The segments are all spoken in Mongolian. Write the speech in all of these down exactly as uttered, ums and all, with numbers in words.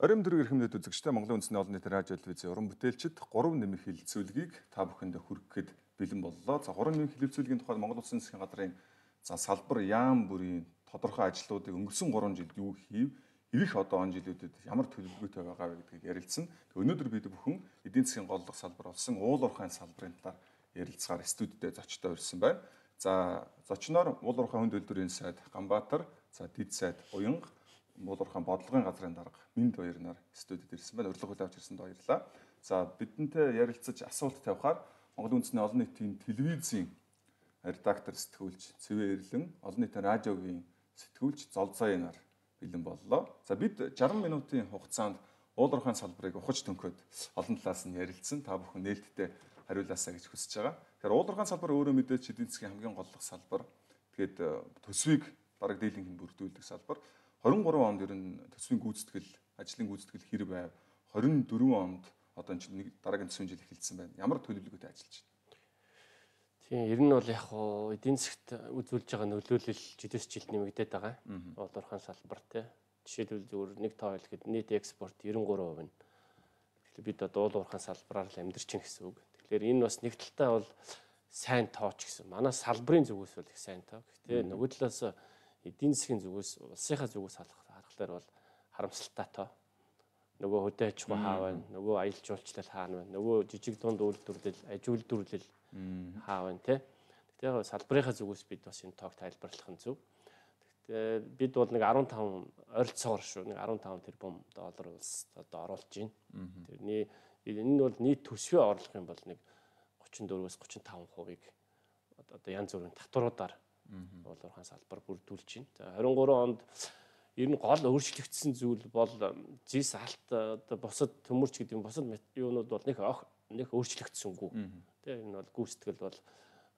Хорин дөрөв эрхэмлээд үзэгчтэй Монголын үндэсний олон нийтийн радио телевизийн уран бүтээлчид гурван нэмэх хэлэлцүүлгийг та бүхэнд хүргэхэд бэлэн боллоо. За гурван нэмэх хэлэлцүүлгийн тухайд Монгол Улсын засгийн газрын за салбар яам бүрийн тодорхой ажлуудыг өнгөрсөн гурван жилд юу хийв, ирэх одоо он жилүүдэд ямар төлөвлөгөөтэй байгаа вэ гэдгийг ярилцсан. Өнөөдөр бид бүхэн эдийн засгийн голлох салбар болсон уул уурхайн салбарын талаар ярилцгаар студидтэй зочтой ирсэн байна. За зочноор уул уурхайн хүнд үйлдвэрийн сайд Ганбаатар, за дэд сайд Уянга, уул уурхайн бодлогын газрын дарга Минд баяр нар студид ирсэн байна. Урилга хүлээж авч ирсэнд баярлалаа. За бидэнтэй ярилцаж асуулт тавихаар Монголын үндэсний олон нийтийн телевизийн редактор сэтгүүлч Цэвэ Эрлэн, олон нийтийн радиогийн сэтгүүлч Золзой нар бэлэн боллоо. За бид шарсан минутын хугацаанд уул уурхайн салбарыг ухаж төнхөд олон талаас нь ярилцсан. Та бүхэн нээлттэй хариулаасаа гэж хүсэж байгаа. Тэгэхээр уул уурхайн салбар өөрөө мэдээж эдийн засгийн хамгийн голлох салбар. Тэгээд төсвийг бараг дийлэнх бүрдүүлдэг салбар. хорин гурван онд ер нь төсвийн гүйцэтгэл, ажлын гүйцэтгэл хэр байв? хорин дөрвөн онд одоо энэ дараагийн төсвийн жил эхэлсэн байна. Ямар төлөвлөгөөтэй ажиллаж байна? Тийм, ер нь бол яг хуу эдийн засгт үзүүлж байгаа нөлөөлөл жилээс жилд нэмэгдээд байгаа. Уул уурхайн салбар тий. Жишээлбэл зөвхөн нэг тоо хэлэхэд нийт экспорт девяносто три хувь нь. Тэгэхээр бид одоо уул уурхайн салбараар л амьдарч байна гэсэн үг. Тэгэхээр энэ бас нэг талтай бол сайн тооч гэсэн. Манай салбарын зүгээс бол их сайн тоо. Гэхдээ нөгөө талаас эдийн засгийн зүгээс улсынхаа зүгээс харахаар бол харамсалтай тоо. Нөгөө хөдөө аж ахуй хаа байна, нөгөө аялал жуулчлал хаана байна, нөгөө жижиг дунд үйлдвэрлэл, аж үйлдвэрлэл хаа байна те. Гэхдээ салбарынхаа зүгээс бид бас энэ тоог тайлбарлах нь зөв. Гэхдээ бид бол нэг арван таван ойролцоогоор шүү, нэг арван таван тэрбум доллар улс одоо оруулж байна. Тэрний энэ нь бол нийт төсвийн орлого юм бол нэг тридцать четыреээс тридцать пять хувийг одоо янз бүрийн татваруудаар уул уурхайн салбар бүрдүүлж байна. За хорин гурван онд ер нь гол өөрчлөгдсөн зүйл бол зис алт одоо бусад төмөрч гэдэг юм бусад юунууд бол нэг нэг өөрчлөгдсөнгүй. Тэгээ энэ бол гүйцэтгэл бол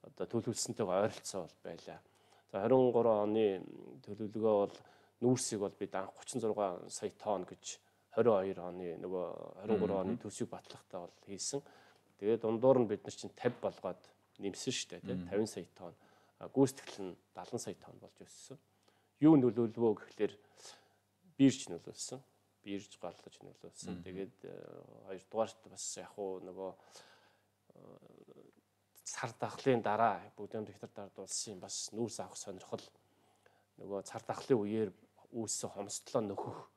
одоо төлөвлөсөнтэйгээ ойролцоо бол байлаа. За хорин гурван оны төлөвлөгөө бол нүүрсийг бол бид анх тридцать шесть сая тонн гэж двадцать two оны нөгөө хорин гурван оны төсвийг батлахтаа бол хийсэн. Тэгээд дундуур нь бид нар чинь пятьдесят болгоод нэмсэн шүү дээ тийм пятьдесят сая тонн. Гүйцэтгэл нь севент сая тонн болж өссөн. Юу нөлөөлвөө гэхэлэр бирж нөлөөлсөн. Бирж голлож нөлөөлсөн. Тэгээд хоёрдугаарт бас яг уу нөгөө цар тахлын дараа бүгд дэвтэр дардуулсан бас нүүрс авах сонирхол нөгөө цар тахлын үеэр үүссэн хомсдлоо нөхөх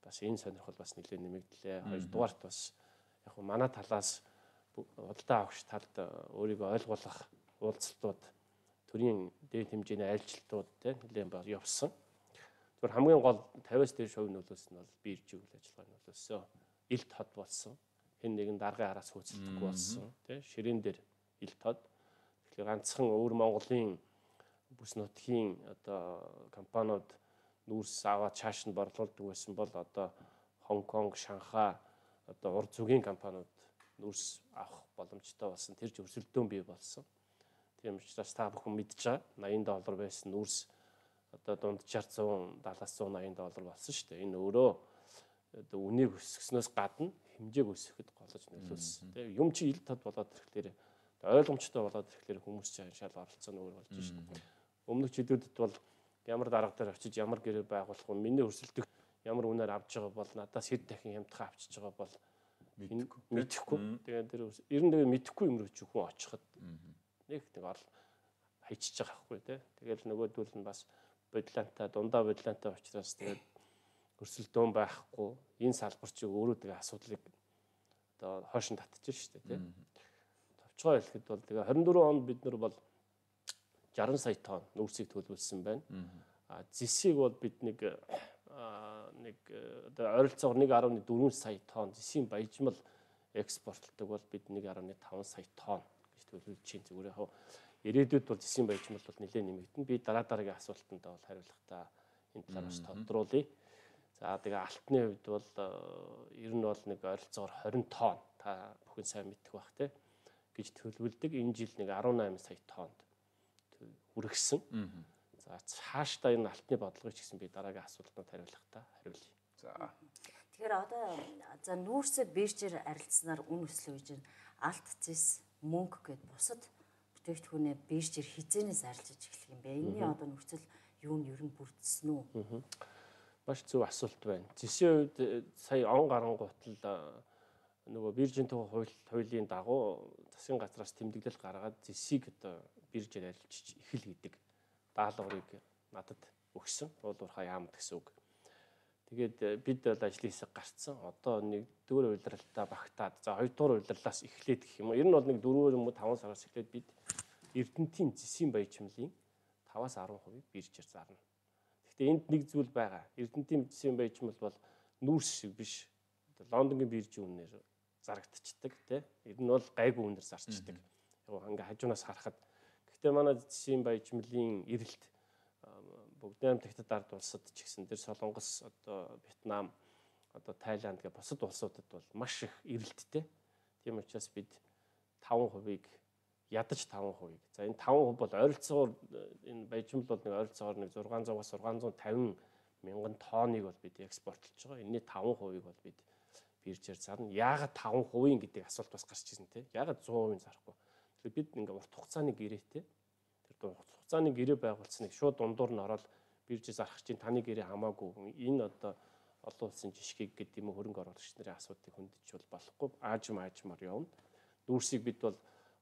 бас энэ сонирхол бас нэлээд нэмэгдлээ. Хоёрдугаарт бас яг уу манай талаас худалдаа авахч талд өөрийгөө ойлгуулах уулзалтууд төрийн дээд хэмжээний айлчлалтууд тийм нэлээд явсан. Зүгээр хамгийн гол пятьдесят-аас дээш хувь нөлөөсөн нь бол бирж үйл ажиллагаа нөлөөсөн. Илт хот болсон. Хэн нэгэн даргын араас хөөцөлдөхгүй болсон. Тийм ширээн дээр илт хот. Тэгэхээр ганцхан өвөр Монголын бүс нутгийн одоо компаниуд нүүрс аваад чааш нь борлуулдаг байсан бол одоо Хонконг, Шанхай одоо урд зүгийн компаниуд нүүрс авах боломжтой болсон. Тэр ч өрсөлдөөн бий болсон. Тийм учраас та бүхэн мэдж байгаа eighty доллар байсан нүүрс одоо дунджаар one seventy доллар болсон шүү дээ. Энэ өөрөө одоо үнийг өсгснөөс гадна хэмжээг өсгөхөд голож нөлөөлсөн. Тийм юм чи ил тод болоод ирэхлээр ойлгомжтой болоод ирэхлээр хүмүүс чинь шал оролцсон өөр болж шүү дээ. Өмнөх жилүүдэд бол ямар дарга дээр очиж ямар гэрээ байгуулах вэ? Миний өрсөлдөх ямар үнээр авч байгаа бол надаас хэд дахин хямдхан авчиж байгаа бол мэдэхгүй. Тэгээд тэр ер нь тэгээд мэдэхгүй юм руу ч хүн очиход нэг нэг орл хайчиж байгаа байхгүй тий. Тэгэл нөгөөдөл нь бас бодлантай дундаа бодлантай учраас тэгээд өрсөлдөөн байхгүй энэ салбар чи өөрөө тэгээ асуудлыг одоо хойшин татчих шүү дээ тий. Товчгоо хэлэхэд бол тэгээ twenty four онд бид нар бол sixty сая тонн нүүрсийг төлөвлөсөн байна. А зэсийг бол бид нэг нэг одоо ойролцоогоор one point four сая тонн зэсийн баяжмал экспортлдог бол бид one point five сая тонн гэж төлөвлөж чинь зүгээр яг ирээдүйд бол зэсийн баяжмал бол нэлээд нэмэгдэнэ. Би дараа дараагийн асуултанд бол хариулахдаа энэ талаар бас тодруулъя. За тэгээ алтны хувьд бол ер нь бол нэг ойролцоогоор twenty тонн та бүхэн сайн мэдэх бах те гэж төлөвлөдөг. Энэ жил нэг eighteen сая тоннд хүргэсэн. За цаашдаа энэ алтны бодлогыг ч гэсэн би дараагийн асуултанд хариулахдаа хариулъя. За. Тэгэхээр одоо за нүүрсээ биржээр арилцсанаар үн өслөө гэж алт зэс мөнгө гэд бусад бүтээгдэхүүнээ биржээр хизээнээс арилжиж эхлэх юм бэ? Энэний одоо нөхцөл юу нь ер нь бүрдсэн үү? Маш зөв асуулт байна. Зэсийн үед сая он гарангуутал нөгөө биржийн тухай хууль хуулийн дагуу засгийн газраас тэмдэглэл гаргаад зэсийг одоо биржээр арилжиж эхэл гэдэг даалгаврыг надад өгсөн. Уулуурхаа яамд гэсэн үг. Тэгээд бид бол ажлын хэсэг гарцсан. Одоо нэгдүгээр удирдалтаа багтаад за хоёрдугаар удирдлаас эхлээд гэх юм уу. Ер нь бол нэг дөрвөр юм уу таван сараас эхлээд бид Эрдэнэтийн зэсийн баяжмлын таваас арван хувийг биржээр зарна. Гэхдээ энд нэг зүйл байгаа. Эрдэнэтийн зэсийн баяжмал бол нүүрс шиг биш. Лондонгийн биржийн үнээр зарагдчихдаг тий. Ер нь бол гайгүй үнээр зарчдаг. Яг ингээ хажуунаас харахад. Гэхдээ манай зэсийн баяжмлын эрэлт бүгд наймдагтад ард улсад ч гэсэн тэр Солонгос одоо Вьетнам одоо Тайланд гэх бусад улсуудад бол маш их эрэлттэй. Тийм учраас бид таван хувийг ядаж таван хувийг. За энэ таван хувь бол ойролцоогоор энэ баяжмал бол нэг ойролцоогоор нэг зургаан зугаас зургаан зуун тавин мянган тонныг бол бид экспортлж байгаа. Энэний таван хувийг бол бид биржээр зарна. Яагаад таван хувийн гэдэг асуулт бас гарч ирсэн те. Яагаад сто хувийн зарахгүй. Тэгэхээр бид ингээ урт хугацааны гэрээтэй тэр урт хугацааны гэрээ байгуулсныг шууд дундуур нь ороод биржээ зарах чинь таны гэрээ хамаагүй. Энэ одоо олон улсын жишгийг гэдэг юм уу хөрөнгө оруулагч нарын асуудыг хөндөж бол болохгүй. Аажим аажмаар явна. Нүүрсийг бид бол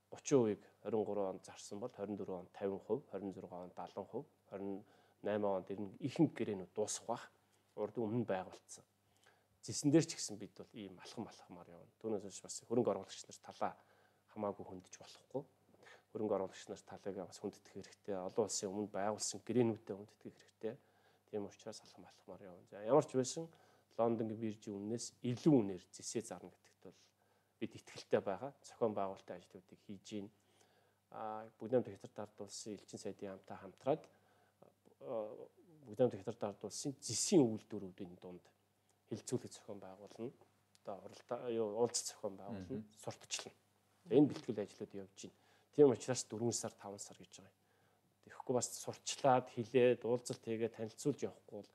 гучин хувийг хорин гурав онд зарсан бол хорин дөрөв онд тавин хувь, хорин зургаан онд даалан хувь, хорин найман онд ирнэ ихэнх гэрээнүүд дуусах бах. Урд өмнө байгуулсан. Зэсэн дээр ч гэсэн бид бол ийм алхам алхамаар явна. Түүнээс биш бас хөрөнгө оруулагч нар талаа хамаагүй хөндөж болохгүй. Хөрөнгө оруулагч нар талыг бас хүндэтгэх хэрэгтэй. Олон улсын өмнө байгуулсан гэрээнүүдэд хүндэтгэх хэрэгтэй. Тийм учраас алхам алхамаар явна. За ямар ч байсан Лондонгийн биржийн үнээс илүү үнээр зэсээ зарна гэдэгт бол бид итгэлтэй байгаа. Зохион байгуулалтын ажлуудыг хийж гин. А бүгд хятад ард улсын элчин сайдын хамтаа хамтраад бүгд хятад ард улсын зэсийн үйлдвэрүүдийн дунд хилцүүлэг зохион байгуулна. Одоо уралдаа юу уулзалт зохион байгуулна, сурталчлана. Энэ бэлтгэл ажлууд явж байна. Тийм учраас дөрвөн сар, таван сар гэж байгаа юм. Тэгэхгүй бас сурчлаад, хилээд, уулзалт хийгээд танилцуулж явахгүй бол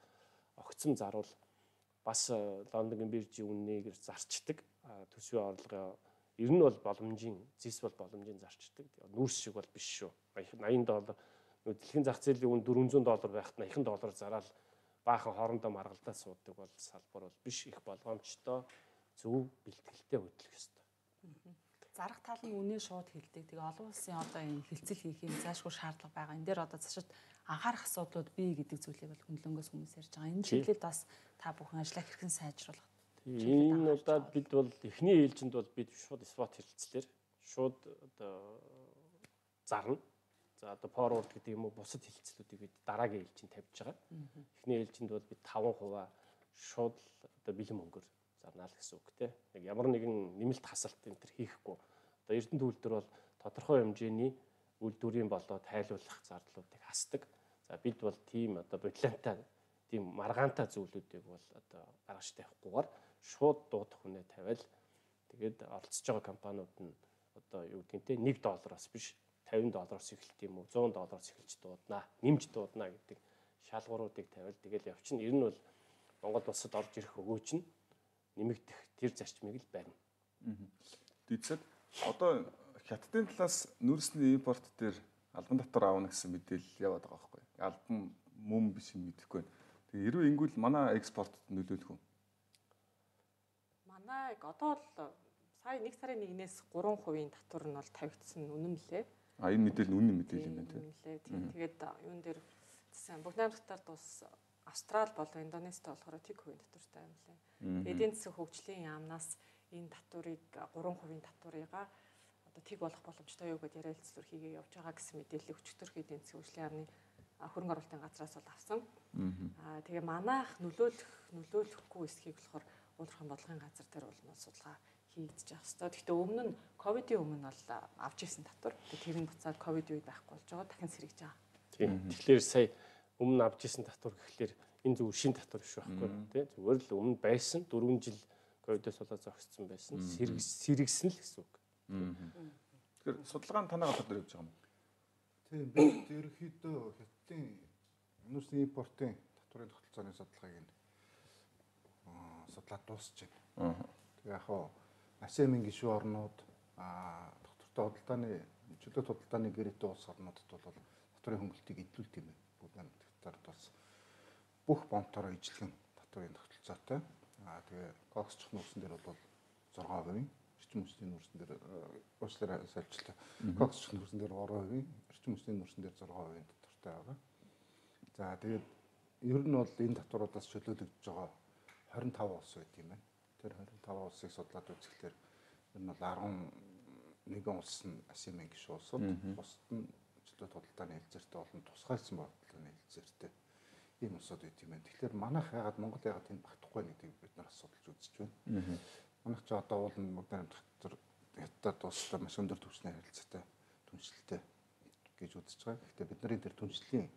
огцом заруул бас Лондонгийн биржийн үннийг зарчдаг. Төсвийн орлогын ер нь бол боломжийн, зэс бол боломжийн зарчдаг. Нүүрс шиг бол биш шүү. восемьдесят доллар дэлхийн зах зээлийн үн дөрвөн зуун доллар байхад восемьдесят доллар зараад баахан хоорондоо маргалдаад суудаг бол салбар бол биш, их болгоомжтой зөв бэлтгэлтэй хөтлөх ёстой. Зарах тал нь үнэ шууд хэлдэг. Тэгээ олон улсын одоо энэ хилцэл хийх юм заашгүй шаардлага байгаа. Энэ дээр одоо цаашид анхаарах асуудлууд бий гэдэг зүйлийг бол хөндлөнгөөс хүмүүс ярьж байгаа. Энэ чиглэлд бас та бүхэн ажиллаа хэрхэн сайжруулах. Энэ удаад бид бол эхний ээлжинд бол бид шууд спот хэлцлэр шууд одоо зарна. За одоо форвард гэдэг юм уу бусад хэлцлүүдийг бид дараагийн ээлжинд тавьж байгаа. Эхний ээлжинд бол бид таван хувиа шууд одоо бэлэн мөнгөөр зарнаа л гэсэн үг тийм. Яг ямар нэгэн нэмэлт хасалт энэ төр хийхгүй. Одоо Эрдэнэт үйлдвэр бол тодорхой хэмжээний үйлдвэрийн болоо тайлбарлах зардлуудыг хасдаг. За бид бол тийм одоо бодлонтой тийм маргаантай зүйлүүдийг бол одоо гаргаж тавихгүйгээр шууд дуудах үнэ тавиал тэгээд оролцож байгаа компаниуд нь одоо юу гэдгийг те нэг доллароос биш тавин доллароос эхэлт юм уу зуун доллароос эхэлж дуудана нэмж дуудана гэдэг шалгууруудыг тавиал тэгэл явчихна. Ер нь бол Монгол улсад орж ирэх өгөөч нь нэмэгдэх тэр зарчмыг л барина. Дийцэд одоо хятадын талаас нүүрсний импорт дээр албан татвар аавна гэсэн мэдээлэл яваад байгаа байхгүй. Албан мөн биш юм мэдэхгүй байна. Тэгээ хэрвээ ингүүл манай экспортод нөлөөлөх үү? Манайг одоо л сая нэг сарын нэгнээс гурван хувийн татвар нь бол тавигдсан үнэн лээ. А энэ мэдээлэл нь үнэн мэдээлэл юм байна тийм. Тэгээд юун дээр засгийн бүгд найрамдагтаар тус Австрали болон Индонезид болохоор тэг хувийн татвартай юм лээ. Эдийн засгийн хөгжлийн яамнаас энэ татварыг гурван хувийн татварыгаа одоо тэг болох боломжтой юу гэдээ ярилцлаар хийгээ явж байгаа гэсэн мэдээлэл өчигдөр эдийн засгийн хөгжлийн яамны хөрөнгө оруулалтын газраас бол авсан. Аа тэгээ манайх нөлөөлөх нөлөөлөхгүй эсхийг болохоор уулуурхайн бодлогын газар дээр бол судалгаа хийгдэж явах хэрэгтэй. Гэхдээ өмнө нь ковидын өмнө бол авч ирсэн татвар. Тэр нь буцаад ковид үед байхгүй болж байгаа дахин сэргэж байгаа. Тийм. Тэгэхээр сая өмнө авч ирсэн татвар гэхэлэр энэ зөв шин татвар биш байхгүй тий. Зүгээр л өмнө байсан дөрвөн жил ковидоос болоод зогссон байсан. Сэргсэн л гэсэн үг. Тэгэхээр судалгаа нь танаа гадар явж байгаа юм. Тийм бид ерөнхийдөө хятадын нүүрсний импортын татварын тогтолцооны судалгааг нь судлаад дуусч байна. Тэгээ яг хоо АСЕАН-ийн гишүүн орнууд аа доктортой худалдааны чөлөөт худалдааны гэрээтэй улс орнуудад бол татварын хөнгөлөлтийг эдлүүлт юм байна. Бүгд хамтдаар бас бүх бомбтороо ижлэгэн татврын тогтолцоотой. Аа тэгээ коксчих нүүрсэн дээр бол зураг хувийн, эрчим хүчний нүүрсэн дээр уучлаарай сольчлаа. Коксчих нүүрсэн дээр гурван хувийн, эрчим хүчний нүүрсэн дээр зураг хувийн татвартай байгаа. За тэгээд ер нь бол энэ татваруудаас чөлөөлөгдөж байгаа хорин тав улс байт юм байна. Тэр хорин тав улсыг судлаад үзэхлээр ер нь бол арван нэгэн улс нь АСЕАН гишүүн улсууд, бусад нь чөлөө худалдааны хэлцээртэй болон тусгайлсан бодлооны хэлцээртэй ийм улсууд байт юм байна. Тэгэхээр манайх ягаад Монгол ягаад тэнд багтахгүй гэдгийг бид нар асуудалж үзэж байна. Манайх ч одоо уул нь Богдан дотор хятад улстай маш өндөр түвшний харилцаатай түншлэлтэй гэж үзэж байгаа. Гэхдээ бид нарын тэр түншлийн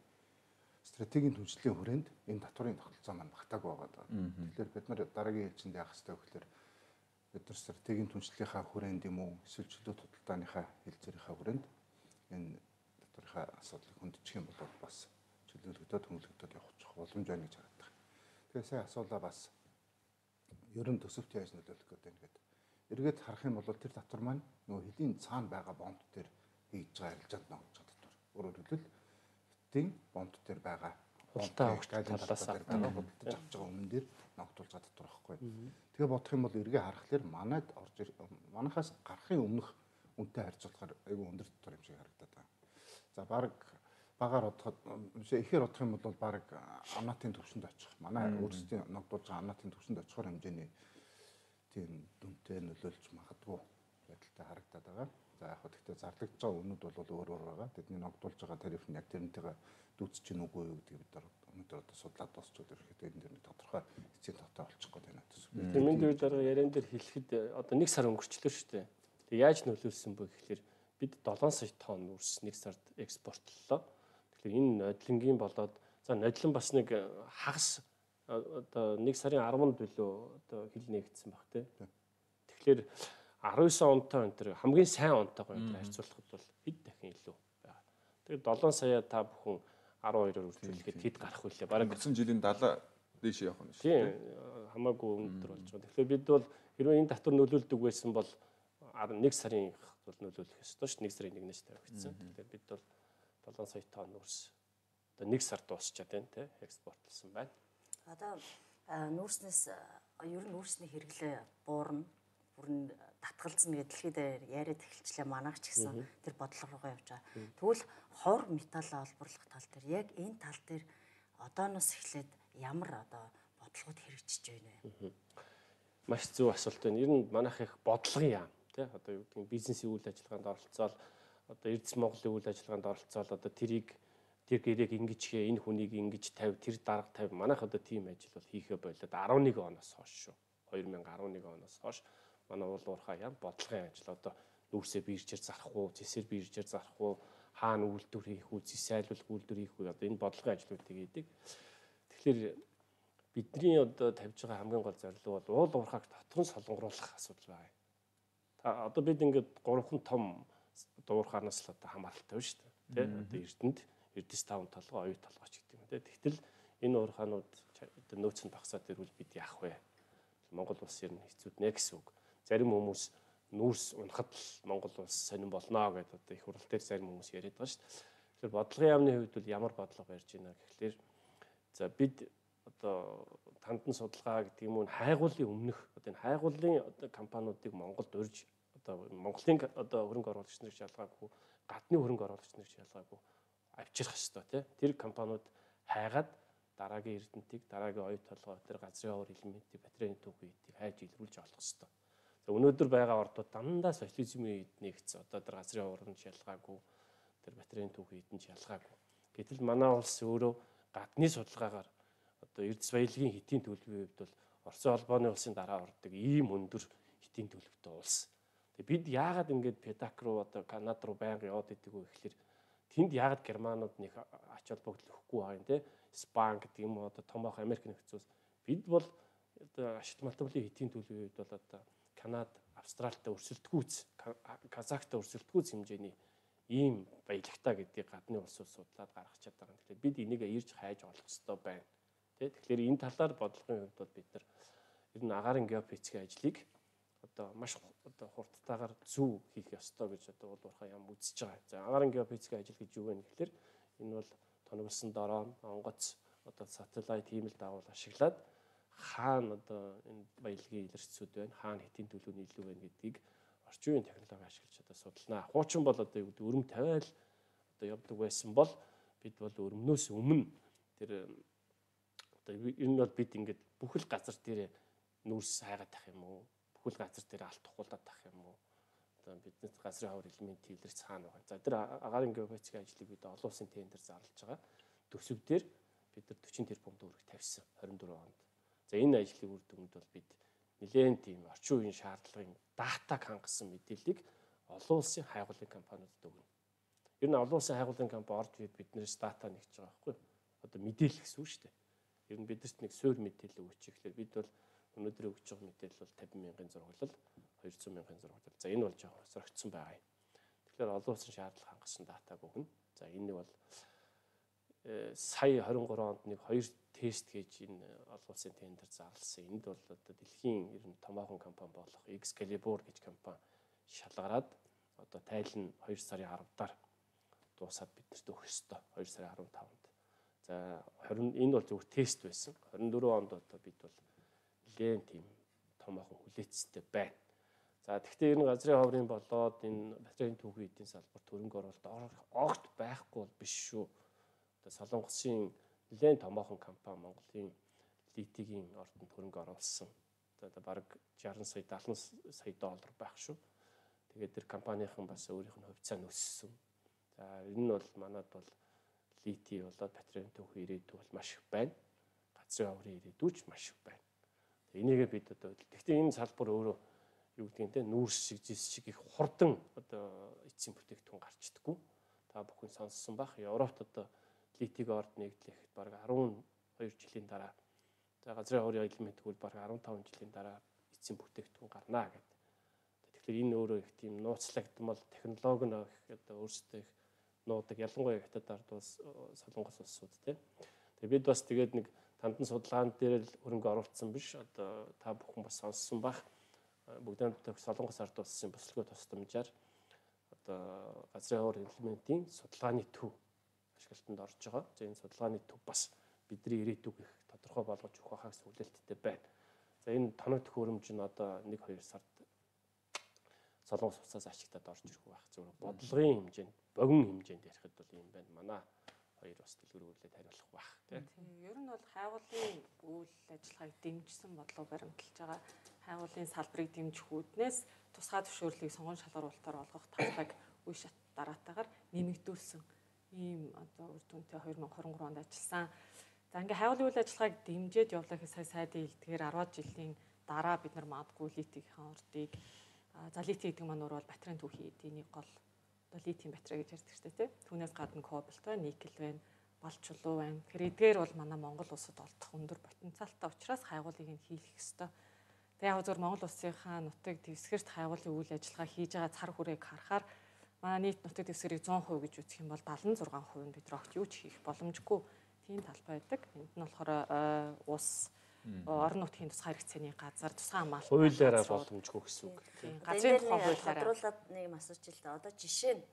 стратегийн түншлийн хүрээнд энэ татврын тогтолцоо маань багтаагүй байгаа. Тэгэхээр бид нар дараагийн ээлжинд яах ёстой вэ гэхээр бид нар стратегийн түншлийнхаа хүрээнд юм уу эсвэл чөлөө худалдааныхаа хэлцээрийнхаа хүрээнд энэ татврынхаа асуудлыг хөндөчих юм бол бас чөлөөлөгдөд хөнгөлөгдөд явах боломж байна гэж хараад байна. Тэгээ сая асуулаа бас ер нь төсөвт яаж нөлөөлөх гэдэг ингээд эргээд харах юм бол тэр татвар маань нөгөө хэдийн цаана байгаа бомб дээр хийж байгаа арилжаанд ногдож байгаа татвар. Өөрөөр хэлбэл хэдийн бомб дээр байгаа худалдаа авах талаас нь байгаа худалдаж авч байгаа өмнө дээр ногдуулж байгаа татвар байхгүй. Тэгээ бодох юм бол эргээ харахаар манайд орж манахаас гарахын өмнөх үнэтэй харьцуулахаар айгүй өндөр татвар юм шиг харагдаад байна. За баг багаар бодоход ихээр бодох юм бол баг амнаатын төвшөнд очих. Манай өөрсдийн ногдуулж байгаа амнаатын төвшөнд очихоор хэмжээний тийм дүнтэй нөлөөлж магадгүй байдалтай харагдаад байгаа. За яг хөө гэхдээ зарлагдж байгаа үнүүд бол өөр өөр байгаа. Тэдний ногдуулж байгаа тариф нь яг тэрнтэйгээ дүүцэж гин үгүй юу гэдгийг бид нар өнөөдөр одоо судлаад дуусчод ирэхэд энэ дэр нэг тодорхой эцсийн товтой болчих гээд байна гэсэн. Тэмэн дээр дараа яриан дээр хэлэхэд одоо нэг сар өнгөрчлөө шүү дээ. Тэг яаж нөлөөлсөн бэ гэхээр бид долоон сая тонн үрс нэг сард экспортлолоо. Тэгэхээр энэ нодлонгийн болоод за нодлон бас нэг хагас одоо нэг сарын арванд билүү одоо хил нэгдсэн баг тий. Тэгэхээр арван девять онтой энэ төр хамгийн сайн онтойгоо энэ харьцуулахад бол хэд дахин илүү байгаа. Тэгээд долоон сая та бүхэн арван хоёроор үржүүлэхэд хэд гарах вүлээ? Бараг өнгөрсөн жилийн далаа дээш явах нь шүү дээ. Хамаагүй өндөр болж байгаа. Тэгэхээр бид бол хэрвээ энэ татвар нөлөөлдөг байсан бол нэг сарын бол нөлөөлөх ёстой ш. нэг сарын нэгнээс тавигдсан. Тэгэхээр бид бол долоон сая тонн үрс одоо нэг сар дуусчаад байна те экспортлсон байна. Одоо нүүрснээс ер нь нүүрсний хэрэглээ буурна, бүрэн татгалзна гэдэг дэлхийд яриад эхэлчлээ манайх ч гэсэн тэр бодлого руугаа явж байгаа. Тэгвэл хор металл олборлох тал дээр яг энэ тал дээр одооноос эхлээд ямар одоо бодлогод хэрэгжиж байна вэ? Маш зөв асуулт байна. Ер нь манайх их бодлогын яам тий одоо юу гэдэг бизнесийн үйл ажиллагаанд оролцоод одоо Эрдэс Монголын үйл ажиллагаанд оролцоод одоо тэрийг тэр гэрээг ингэж хээ энэ хүнийг ингэж тавь тэр дарга тавь манайх одоо тийм ажил бол хийхэ болоод арван нэг оноос хойш шүү. две тысячи арван нэг оноос хойш манай уул уурхай яам бодлогын ажил одоо нүүрсээ биржээр зарах уу, зэсээр биржээр зарах уу, хаана үйлдвэр хийх үү, зэс айлуулах үйлдвэр хийх үү одоо энэ бодлогын ажлуудыг хийдэг. Тэгэхээр бидний одоо тавьж байгаа хамгийн гол зорилго бол уул уурхайг татвар солонгоруулах асуудал байна. Та одоо бид ингээд гурван том дуурхаанаас л одоо хамааралтай байна шүү дээ. Тэ одоо Эрдэнэт Эрдэс таван толгой, оюу толгойч гэдэг юм тэ. Тэгтэл энэ уурхаанууд одоо нөөц нь багасаад ирвэл бид яах вэ? Монгол улс ер нь хэцүүд нэ гэсэн үг. Зарим хүмүүс нүүрс унахад л Монгол улс сонирн болно гэдэг одоо их хурал дээр зарим хүмүүс яриад байгаа шүү дээ. Тэгэхээр бодлогын яамны хувьд бол ямар бодлого барьж байна гэхлээр за бид одоо тандан судалгаа гэдэг юм уу хайгуулын өмнөх одоо энэ хайгуулын одоо компаниудыг Монголд урьж одоо Монголын одоо хөрөнгө оруулагч нар шалгаагүй гадны хөрөнгө оруулагч нар шалгаагүй авчрах ёстой тий. Тэр компаниуд хайгаад дараагийн эрдэнтийг дараагийн оюу толгой тэр газрын хавар элементийг батарейн түүхийг хайж илрүүлж олох ёстой. За өнөөдөр байгаа ордууд дандаа социализмын үед нэгц одоо тэр газрын хаврын шалгаагүй тэр батарейн түүхийг нь шалгаагүй. Гэтэл манай улс өөрөө гадны судалгаагаар одоо Эрдэс баялагын хэтийн төлөвийн хувьд бол Оросын холбооны улсын дараа ордог ийм өндөр хэтийн төлөвтэй улс. Тэгээ бид яагаад ингэж Педак руу одоо Канада руу байнга яваад идэг вэ гэхэлэр тэнд яагаад германууд нэг ач холбогдол өгөхгүй байгаа юм те. Спан гэдэг юм уу одоо томоох Америк нэгдсэн улс. Бид бол одоо ашигт малтаблын хэтийн төлөвийн хувьд бол одоо Канада, Австралитай өрсөлдөхүүц, Казахтай өрсөлдөхүүц хэмжээний ийм баялагтай гэдгийг гадны улсууд судлаад гаргах чаддаг. Тэгэхээр бид энийг ирж хайж олох ёстой байна. Тэгэхээр энэ талаар бодлогын хувьд бол бид нар ер нь агаарын геофизикийн ажлыг одоо маш одоо хурдтайгаар зөв хийх ёстой гэж одоо уул уурхай ям үзэж байгаа. За агаарын геофизикийн ажил гэж юу вэ гэхээр энэ бол тоноглосон дороо, онгоц, одоо сателлайт ийм л дагуул ашиглаад хаана одоо энэ баялагын илэрчсүүд байна, хаана хэтийн төлөв нь илүү байна гэдгийг орчин үеийн технологи ашиглаж одоо судалнаа. Хуучин бол одоо юу гэдэг өрөм тавиал одоо явдаг байсан бол бид бол өрөмнөөс өмнө тэр одоо энэ бол бид ингээд бүхэл газар дээр нүүрс хайгаад тах юм уу? Бүхэл газар дээр алт тухуулаад тах юм уу? Одоо бидний газрын хавар элемент илэрч цаана байгаа. За тэр агаарын геофизикийн ажлыг бид олон улсын тендер зарлаж байгаа. Төсөв дээр бид нар forty тэрбум төгрөг тавьсан twenty twenty-four онд. За энэ ажлын үр дүнд бол бид нэлээд тийм орчин үеийн шаардлагын датаг хангасан мэдээллийг олон улсын хайгуулын компаниудад өгнө. Ер нь олон улсын хайгуулын компани орж ирээд биднээс дата нэгж байгаа байхгүй юу? Одоо мэдээлэл гэсэн үг шүү дээ. Ер нь бидэрт нэг суур мэдээлэл өгч ихлээр бид бол өнөөдөр өгч байгаа мэдээлэл бол fifty мянган зурглал, two hundred мянган зурглал. За энэ бол жоо сорогдсон байгаа юм. Тэгэхээр олон улсын шаардлага хангасан датаг өгнө. За энэ бол сая twenty-three онд нэг хоёр тест гэж энэ олон улсын тендер зарласан. Энд бол одоо дэлхийн ер нь томоохон компани болох Excalibur гэж компани шалгараад одоо тайлан two сарын ten-аар дуусаад биднэрт өгөх ёстой. two сарын fifth-нд. За twenty энэ бол зөвхөн тест байсан. twenty-four онд одоо бид бол нэлээд тийм томоохон хүлээцтэй байна. За тэгэхээр энэ газрын ховрын болоод энэ батарейн түүхийн эдийн салбарт хөрөнгө оруулалт огт байхгүй бол биш шүү. Одоо Солонгосын нэлээд томоохон компани Монголын литигийн ордонд хөрөнгө оруулсан. Одоо бараг sixty сая seventy сая доллар байх шүү. Тэгээд тэр компанийн бас өөрийнх нь хувьцаа нь өссөн. За энэ нь бол манад бол лити болоод батарейн түүхийн ирээдүй бол маш их байна. Газрын ховрын ирээдүй ч маш их байна. Энийгээ бид одоо гэхдээ энэ салбар өөрөө юу гэдгийг те нүүрс шиг зис шиг их хурдан одоо эцсийн бүтээгдэхүүн гарчдаггүй. Та бүхэн сонссон бах. Европт одоо литиг орд нэгдлэхэд бараг twelve жилийн дараа за газрын ховрын элемент хөл бараг fifteen жилийн дараа эцсийн бүтээгдэхүүн гарнаа гэдэг. Тэгэхээр энэ өөрөө их тийм нууцлагдмал технологи нь одоо өөрсдөө их нуудаг ялангуяа хятад ард улс солонгос улсууд те. Тэгээ бид бас тэгээд нэг тандан судалгаан дээр л хөрөнгө оруулсан биш. Одоо та бүхэн бас сонссон бах. Бүгд хамтдаа солонгос ард улсын босолгоо тусламжаар одоо газрын ховрын элементийн судалгааны төв ашиглалтанд орж байгаа. За энэ судалгааны төв бас бидний ирээдүг их тодорхой болгож өгөх хаа гэсэн хүлээлттэй байна. За энэ тоног төхөөрөмж нь одоо one two сард солонгос улсаас ашиглаад орж ирэх байх. Зөвхөн бодлогын хэмжээнд, богино хэмжээнд ярихад бол юм байна. Манай хоёр бас дэлгэрүүлээд хариулах байх тийм. Ер нь бол хайгуулын үйл ажиллагааг дэмжсэн бодлого баримталж байгаа. Хайгуулын салбарыг дэмжих үүднээс тусгай зөвшөөрлийг сонгон шалгаруулалтаар олгох талбайг үе шат дараатаагаар нэмэгдүүлсэн ийм одоо үр дүнтэй twenty twenty-three онд ажилласан. За ингээ хайгуулын үйл ажиллагааг дэмжиж явуулах сая сайдын хэлдгээр ten жилийн дараа бид нар магадгүй литигийн ордыг за лити гэдэг маань бол батарейн түүхийн эдийн гол одоо литийн батарей гэж ярьдаг шүү дээ. Түүнээс гадна кобальт байна, никель байна, балчулуу байна. Тэгэхээр эдгээр бол манай Монгол улсад олдох өндөр потенциалтай учраас хайгуулыг нь хийх ёстой. Тэгээ яг зөв Монгол улсынхаа нутаг дэвсгэрт хайгуулын үйл ажиллагаа хийж байгаа цар хүрээг харахаар манай нийт нутаг дэвсгэрийг one hundred percent гэж үзэх юм бол seventy-six percent нь бид нар огт юу ч хийх боломжгүй тийм талбай байдаг. Энд нь болохоор ус орон нутгийн тусгай хэрэгцээний газар, тусгай хамгаалалт хуулиараа боломжгүй гэсэн үг. Газрын тухай хуулиараа тодруулаад нэг юм асууж л да. Одоо жишээ нь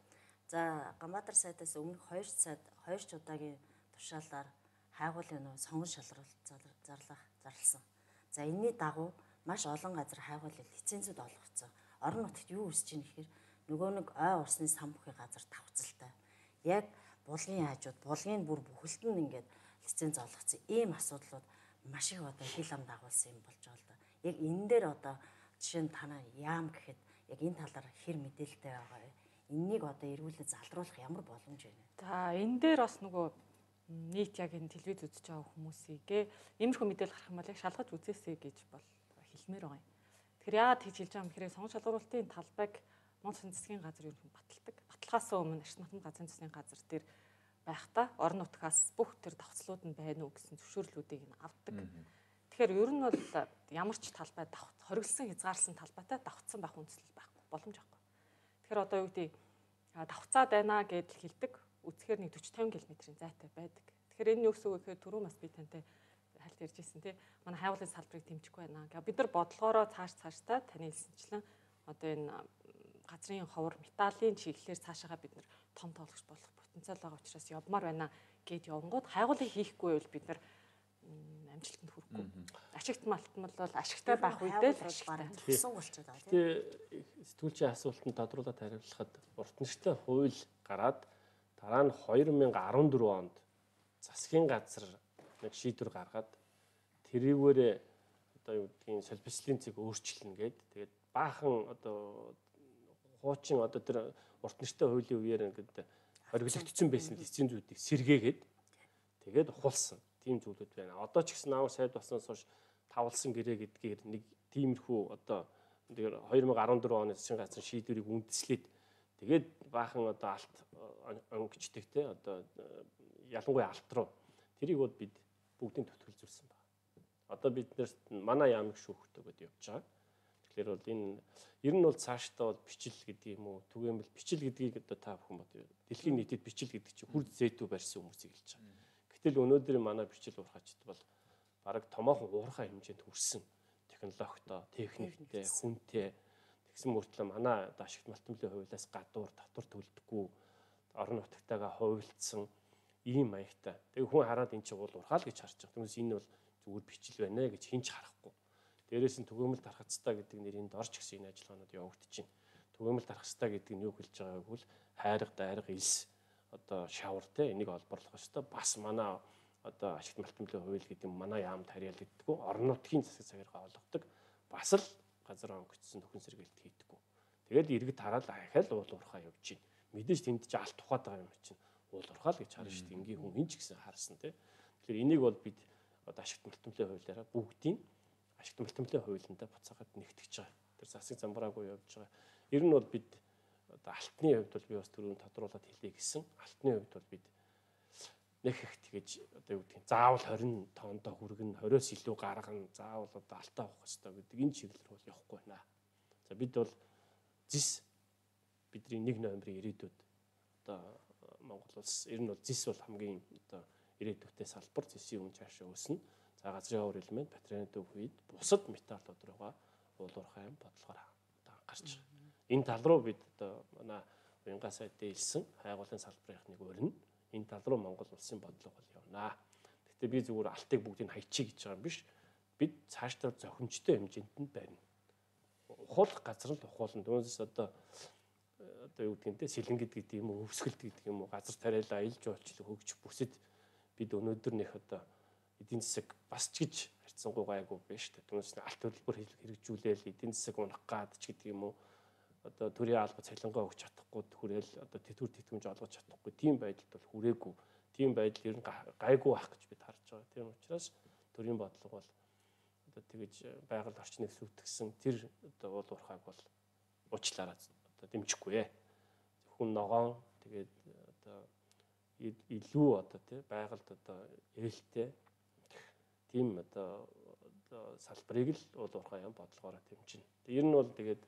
за Гамбатар сайтаас өмнөх two сард two ч удаагийн тушаалаар хайгуулын нөө сонгон шалгаруулалт зарлах зарласан. За энэний дагуу маш олон газар хайгуулын лицензүүд олгогдсон. Орон нутагт юу үсэж ийн гэхээр нөгөө нэг ой усны сан бүхий газар давхцалтай. Яг булгын хажууд, булгын бүр бүхэлд нь ингээд лиценз олгогдсон. Ийм асуудлууд маш их одоо хил ам дагуулсан юм болж байгаа л да. Яг энэ дээр одоо жишээ нь танаа яам гэхэд яг энэ талаар хэр мэдээлэлтэй байгаа вэ? Эннийг одоо эргүүлээд залруулах ямар боломж байна? За энэ дээр бас нөгөө нийт яг энэ телевиз үзэж байгаа хүмүүсийгээ иймэрхүү мэдээлэл гарах юм бол яг шалгаж үзээсэй гэж бол хэлмээр байгаа юм. Тэгэхээр яагаад тэгж хэлж байгаа юм гэхээр сонгон шалгаруулалтын талбайг Монгол Улсын засгийн газар юу юм баталдаг. Баталгаас өмнө Ашиг Натан газрын засгийн газар дээр байхдаа орон нутгаас бүх тэр давцлууд нь байна уу гэсэн зөвшөөрлүүдийг нь авдаг. Тэгэхээр ер нь бол ямар ч талбай хориглосон хязгаарласан талбайтай давцсан байх үндслэл байхгүй боломж байхгүй. Тэгэхээр одоо юу гэдэг давцаад байна гэдэл хэлдэг. Үцхээр нэг forty to fifty км-ийн зайтай байдаг. Тэгэхээр энэ юу гэсэн үг вэ гэхээр түрүү бас би тантай хальт ярьж ирсэн тий. Манай хайгуулын салбарыг дэмжихгүй байна. Гэхдээ бид нар бодлогоороо цааш цааштай таны хэлсэнчлэн одоо энэ газрын ховор металлын чиглэлээр цаашаага бид нар том тоглогч болох потенциал байгаа учраас явмаар байна гэд явангууд хайгуулыг хийхгүй байвал бид нар амжилтанд хүрэхгүй. Ашигт малтмал бол ашигтай байх үедээ л ашигтай төгсөн болчиход байгаа тийм. Тэгээ сэтгүүлчийн асуултанд тодруулаад хариулахад урт нэртэй хууль гараад дараа нь две тысячи дөрвөн онд засгийн газар нэг шийдвэр гаргаад тэрийгээрээ одоо юу гэдгийг солилцлын цэг өөрчлөнө гэд тэгээд баахан одоо хуучин одоо тэр урт нэртэй хуулийн үеэр ингээд хориглогдсон байсан эцсийн зүйдийг сэргээгээд тэгээд ухуулсан тийм зүйлүүд байна. Одоо ч гэсэн аав сайд болсноос хойш тавлсан гэрээ гэдгээр нэг тиймэрхүү одоо тэр две тысячи дөрвөн оны засгийн газрын шийдвэрийг үндэслээд тэгээд баахан одоо алт өнгөчтэй те одоо ялангуяа алт руу тэрийг бол бид бүгдийн төтгөлзүүлсэн байна. Одоо бид нэр манай яамыг шүүхтэй гэдээ явж байгаа. Тэгэхээр бол энэ ер нь бол цаашдаа бол бичил гэдэг юм уу түгээмэл бичил гэдгийг одоо та бүхэн бод дэлхийн нийтэд бичил гэдэг чинь хүр зэйтүү барьсан хүмүүсийг хэлж байгаа. Гэтэл өнөөдөр манай бичил уурхачд бол бараг томоохон уурхай хэмжээнд хүрсэн технологитой, техниктэй, хүнтэй тэгсэн мөртлөө манай одоо ашигт малтмлын хуулиас гадуур татвар төлдөггүй орон нутгатайгаа хувилцсан ийм маягтай. Тэгээ хүн хараад эн чинь уул уурхаа л гэж харж байгаа. Түүнээс энэ бол зүгээр бичил байна гэж хинч харахгүй. Дээрээс нь түгээмэл тархацтай гэдэг нэрийн дорч гэсэн энэ ажиллагаанууд явагдаж байна. Түгээмэл тархацтай гэдэг нь юу хэлж байгааг бол хайрга дайрга илс одоо шавар те энийг олборлох ёстой. Бас манай одоо ашигт малтмлын хууль гэдэг нь манай яамд харьяалагддаггүй. Орон нутгийн засаг цагаараа олгодог. Бас л газар онгоцсон нөхөн сэргээлт хийдэггүй. Тэгэл иргэд хараад ахаал уул уурхаа явж байна. Мэдээж тэнд ч алт тухайд байгаа юм чинь уул уурхаа л гэж харна шүү дээ. Ингийн хүн хинч гэсэн харсан те. Тэгэхээр энийг бол бид одоо ашигт малтмлын хуулиараа бүгдийн ашигт малтмлын хуулиндаа буцаагаад нэгтгэж байгаа. Тэр засаг замбраагүй явж байгаа. Ер нь бол бид одоо алтны хувьд бол би бас түрүүн тодруулаад хэлье гэсэн. Алтны хувьд бол бид нэг их тэгэж одоо юу гэдгийг заавал двадцать тоондоо хүргэн двадцоос илүү гаргана. Заавал одоо алтаа авах хэрэгтэй гэдэг энэ чиглэл бол явахгүй байна. За бид бол зис бидний нэг ноембрын ирээдүйд одоо Монгол улс ер нь бол зис бол хамгийн одоо ирээдүйтэй салбар зисийн үн цаашаа өснө. За газрын хавар элемент батарейны төв үед бусад металлууд руугаа уулуурхай юм бодлогоор гарч байгаа. Энэ тал руу бид одоо манай уянгаа сайдд хэлсэн хайгуулын салбарынх нэг өрнө. Энэ тал руу Монгол улсын бодлого бол явнаа. Гэхдээ би зүгээр алтыг бүгдийг хайчих гэж байгаа юм биш. Бид цаашдаа зохимжтой хэмжээнд нь барина. Ухуулах газар л ухуулна. Түүнээс одоо одоо юу гэдгийг те сэлэнгид гэдэг юм уу, өвсгөлд гэдэг юм уу, газар тариалаа аялж олчлог хөгж бүсэд бид өнөөдөр нэх одоо эдийн засаг бас ч гэж харьцангуй гайгүй биш те. Түүнээс алт төлбөр хэрэгжүүлээл эдийн засаг унах гад ч гэдэг юм уу. Одоо төрийн алба цалингаа өгч чадахгүй хүрээл одоо тэтгэвэр тэтгэмж олгож чадахгүй тийм байдалд бол хүрээгүй. Тийм байдал ер нь гайгүй ах гэж бид харж байгаа. Тийм учраас төрийн бодлого бол одоо тэгэж байгаль орчныг сүйтгсэн тэр одоо уул уурхайг бол уучлаарай одоо дэмжихгүй ээ. Зөвхөн ногоон тэгээд одоо илүү одоо тий байгальд одоо ээлтэй тийм одоо салбарыг л уул уурхай юм бодлогоороо дэмжинэ. Ер нь бол тэгээд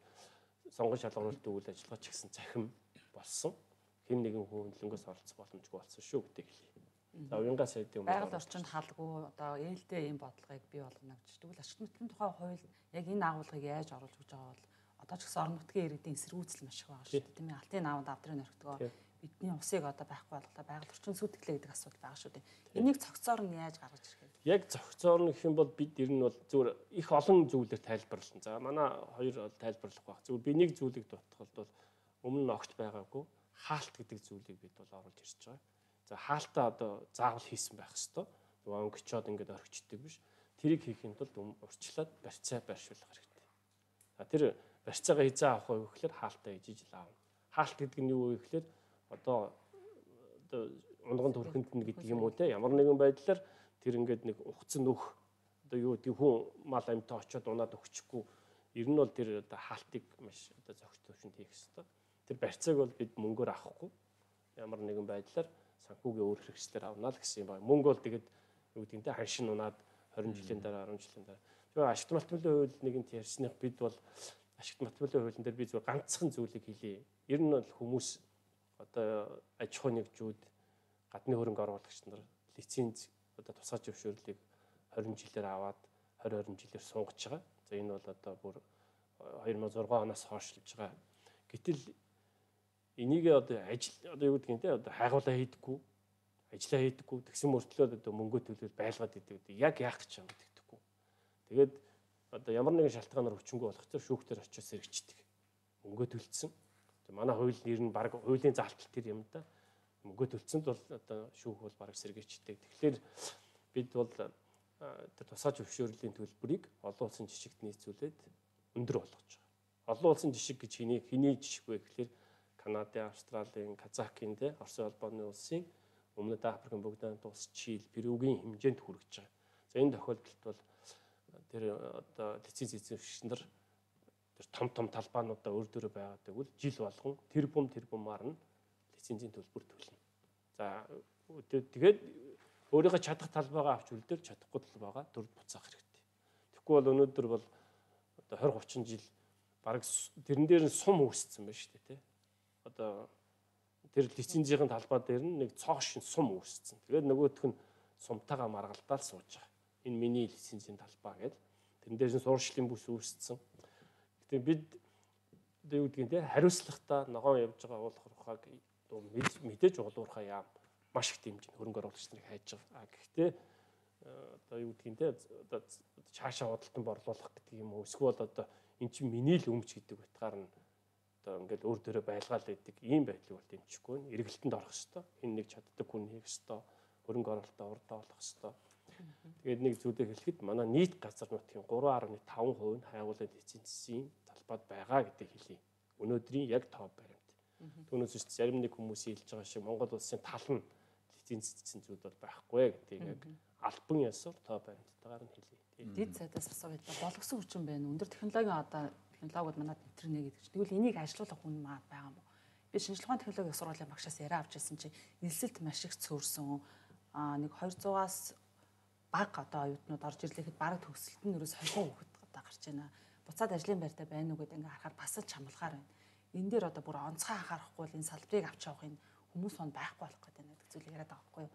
сонгон шалгуулалтын үйл ажиллагаа ч гэсэн цахим болсон. Хэн нэгэн хүн хөндлөнгөөс оролцох боломжгүй болсон шүү гэдэг хэлье. За уянгаа сайдын байгаль орчинд халгүй одоо ээлтэй ийм бодлогыг бий болгоно гэж. Тэгвэл ашигт мөртлийн тухай хууль яг энэ агуулгыг яаж оруулж өгч байгаа бол одоо ч гэсэн орон нутгийн иргэдийн эсэргүүцэл маш их байгаа шүү дээ. Тийм ээ. Алтын наавд авдрын орхитгоо бидний усыг одоо байхгүй болголоо байгаль орчин сүтгэлээ гэдэг асуудал байгаа шүү дээ. Энийг цогцоор нь яаж гаргаж ирэх вэ? Яг цогцоор нь гэх юм бол бид ер нь бол зүгээр их олон зүйлээр тайлбарлсан. За манай хоёр бол тайлбарлах байх. Зүгээр би нэг зүйлийг дутахад бол өмнө нь огт байгаагүй хаалт гэдэг зүйлийг бид бол оруулж ирж байгаа. За хаалтаа одоо заавал хийсэн байх хэвээр. Нөгөө өнгөчөөд ингээд орхичдаг биш. Тэрийг хийхэд бол урьдчилаад барьцаа байршуулах хэрэгтэй. За тэр барьцаагаа хизээ авах вэ гэхээр хаалтаа хийж ижил аавна. Хаалт гэдэг нь юу вэ гэхээр одоо одоо унган төрхөнд нь гэдэг юм уу те ямар нэгэн байдлаар тэр ингээд нэг ухцсан нөх одоо юу гэдэг хүн мал амьтаа очиод унаад өгчихгүй ер нь бол тэр одоо хаалтыг маш одоо зохиц төвшөнд хийх хэрэгтэй. Тэр барьцааг бол бид мөнгөөр авахгүй ямар нэгэн байдлаар санхүүгийн өөр хэрэгслээр авнаа л гэсэн юм байна. Мөнгө бол тэгээд юу гэдэг нь ханшин унаад двадцать жилийн дараа десять жилийн дараа. Тэгээ ашигт малтмлын хууль нэгэнт ярьсных бид бол ашигт малтмлын хуулийн дээр би зөв ганцхан зүйлийг хэлье. Ер нь бол хүмүүс одоо аж ахуй нэгжүүд гадны хөрөнгө оруулагч нар лиценз одоо тусгай зөвшөөрлийг двадцать жилээр аваад двадцать двадцать жилээр сунгаж байгаа. За энэ бол одоо бүр two thousand six оноос хойшлж байгаа. Гэтэл энийг одоо ажил одоо юу гэдгийг те одоо хайгуулаа хийдэггүй, ажиллаа хийдэггүй, тэгсэн мөртлөө одоо мөнгө төлөөл байлгаад идэг. Яг яах гэж юм гэдэггүй. Тэгээд одоо ямар нэгэн шалтгаанаар өчнгөө болох чинь шүүхтэр очиж сэргичдэг. Мөнгө төлцсөн. Манай хууль нэр нь баг хуулийн заалтал тэр юм да. Мөнгө төлцөнд бол одоо шүүх бол баг сэргийчдэг. Тэгэхээр бид бол тэр тусгай зөвшөөрлийн төлбөрийг олон улсын жишгт нийцүүлээд өндөр болгож байгаа. Олон улсын жишг гэж хэний хэний жишг вэ гэхээр Канадын, Австралийн, Казахын, тэ Оросын улбаны улсын Өмнөд Африкийн бүгд найрамд улс Чили, Перугийн хэмжээнд хүрэж байгаа. За энэ тохиолдолд бол тэр одоо лиценз эзэмшигчнэр тэр том том талбаануудаа өөр дөрөө байгадаг бол жил болгон тэр бум тэр бумаар нь лицензийн төлбөр төлнө. За тэгээд өөрийнхөө чадах талбайгаа авч үлдээр чадахгүй талбайгаа дөрөв буцаах хэрэгтэй. Тэгэхгүй бол өнөөдөр бол одоо двадцать тридцать жил баг тэрэн дээр нь сум үүссэн байна шүү дээ, тэ. Одоо тэр лицензийн талбай дээр нь нэг цоошин сум үүссэн. Тэгээд нөгөөх нь сумтайгаа маргалдаал сууж байгаа. Энэ миний лицензийн талбай гэдэг. Тэрэн дээр нь суурьшлийн бүс үүссэн. Гэтэ бид одоо юу гэдгийг те хариуцлагатай ногоон явж байгаа уулуурхайг мэдээж уулуурхай яам маш их дэмжин хөрөнгө оруулагч нарыг хайж байгаа. Гэхдээ одоо юу гэдгийг те одоо цаашаа худалдан борлуулах гэдэг юм уу эсвэл одоо эн чинь миний л өмч гэдэг утгаар нь одоо ингээл өөр дөрөө байлгаал байдаг ийм байдлыг бол дэмжихгүй нь эргэлтэнд орох хэвээр энэ нэг чаддаг хүн хийх хэвээр хөрөнгө оруулалтаа урдаа болох хэвээр. Тэгээд нэг зүйлээ хэлэхэд манай нийт газар нутгийн three point five percent нь хайгуулын лицензийн талбайд байгаа гэдэг хэлье. Өнөөдрийн яг тоо баримт. Түүнээс ч зарим нэг хүмүүс хэлж байгаа шиг Монгол улсын тал нь лицензсэн зүйл бол байхгүй гэдгийг яг албан ёсоор тоо баримттайгаар нь хэлье. Дэд сайдаас асуу байлаа. Болгосон хүчин байна. Өндөр технологийн одоо технологиуд манад интернэ гэдэг чинь. Тэгвэл энийг ажилуулах хүн маа байгаа юм уу? Би шинжилгээ ухааны технологийн сургуулийн багшаас яриа авч ирсэн чинь нэлсэлт маш их цөөрсөн. Аа нэг two hundred-аас баг одоо оюутнууд орж ирлэхэд бараг төгсөлт нь ерөөс хойгоо хөхөд одоо гарч байна. Буцаад ажлын байртаа байна уу гэдэг ингээ харахаар бас ч хамлахаар байна. Энэ дээр одоо бүр онцгой анхаарахгүй бол энэ салбарыг авч явахын хүмүүс хон байхгүй болох гэдэг нэг зүйл яриад байгаа байхгүй юу?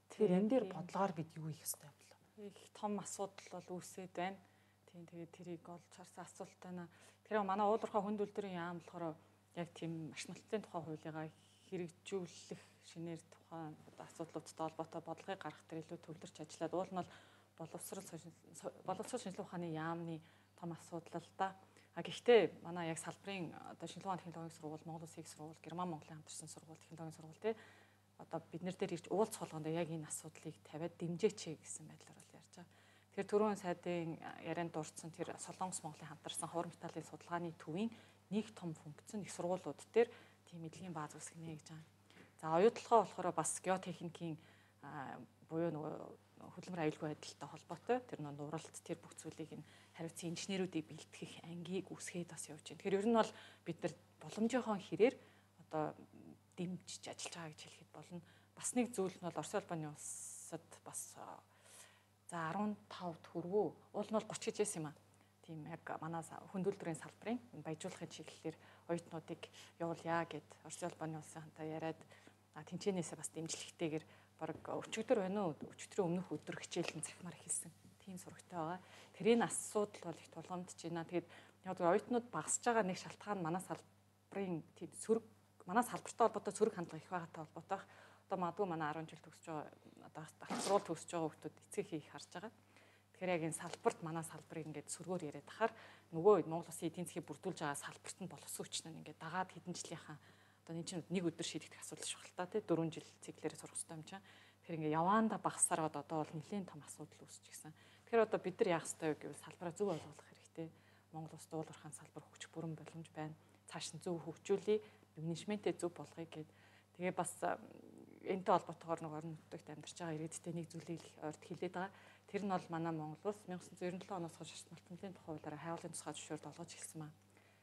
Тэгэхээр энэ дээр бодлогоор бид юу хийх ёстой юм бэ? Их том асуудал бол үүсээд байна. Тийм тэгээд тэрийг олж харсан асуулт байна. Тэгэхээр манай уулуурхай хүнд үйлдвэрийн яам болохоор яг тийм ашиглалтын тухай хуулигаа хэрэгжүүлэх шинээр тухайн асуудлуудтай холбоотой бодлогыг гаргах дээр илүү төвлөрч ажиллаад уул нь бол боловсрол боловсрол шинжилгээ ухааны яамны том асуудал л да. А гэхдээ манай яг салбарын одоо шинжилгээ ухааны технологийн сургууль, Монгол Улсын их сургууль, Герман Монголын хамтарсан сургууль, технологийн сургууль тий одоо бид нар дээр ирж уулз холгоонд яг энэ асуудлыг тавиад дэмжээч гэсэн байдлаар бол ярьж байгаа. Тэгэхээр түрүүн сайдын ярианд дурдсан тэр Солонгос Монголын хамтарсан ховор металлын судалгааны төвийн нэг том функц нь их сургуулиуд дээр тийм эдлэгийн бааз үүсгэнэ гэж байгаа. За оюутлогоо болохоор бас геотехникийн буюу нөгөө хөдөлмөр аюулгүй байдалтай холбоотой тэр нэг нуралт тэр бүх зүйлийг нь хариуцсан инженеруудыг бэлтгэх ангийг үүсгээд бас явж байна. Тэгэхээр ер нь бол бид нар боломжийнхоо хэрээр одоо дэмжиж ажиллаж байгаа гэж хэлэхэд болно. Бас нэг зүйл нь бол Орос улбаны улсад бас за fifteen төгрөгөө уул нь бол thirty гэж байсан юм аа. Тийм яг манай хүнд үйлдвэрийн салбарын баяжуулахын чиглэлээр оюутнуудыг явуулъя гэд Орос улбаны улсын хантай яриад тэнцэнээсээ бас дэмжлэгтэйгээр баг өчигдөр байна уу? Өчигдрийн өмнөх өдөр хичээл нь захимаар эхэлсэн. Тийм сурагтай байгаа. Тэр энэ асуудал бол их тулгамдж байна. Тэгээд яг оюутнууд багасж байгаа нэг шалтгаан манай салбарын тийм сөрөг манай салбартай холбоотой сөрөг хандлага их байгаатай холбоотой. Одоо магадгүй манай ten жил төгсөж байгаа одоо дахь сургууль төгсөж байгаа хүмүүс эцэг хийх харж байгаа. Тэгэхээр яг энэ салбарт манай салбарыг ингээд сөргөөр яриад ахаар нөгөө Монгол Улсын эдийн засгийг бүрдүүлж байгаа салбарт нь боловсон хүч нь ингээд дагаад хэдэн жилийнхаа одоо энэ чинь нэг өдөр шийдэх асуудал шүү хэл та тий four жил циклээрээ сурах хэрэгтэй юм чинь. Тэгэхээр ингээ яваанда багасаар одоо бол нэлийн том асуудал үүсэж гисэн. Тэгэхээр одоо бид нар яах ёстой вэ гэвэл салбараа зөв ойлгох хэрэгтэй. Монгол Улсад уулуурхайн салбар хөгжих бүрэн боломж байна. Цааш нь зөв хөгжүүлээ, менежментээ зөв болгоё гэд. Тэгээ бас энэтэй холбоотойгоор нэг орон нутагт амьдарч байгаа ирээдүйтэй нэг зүйлийг ойрт хэлээд байгаа. Тэр нь бол манай Монгол Улс nineteen ninety-seven оноос хойш шалтгааллын тухай хуулиараа хайгуулын тусгай зөвшөөрөл олгож эхэлсэн байна.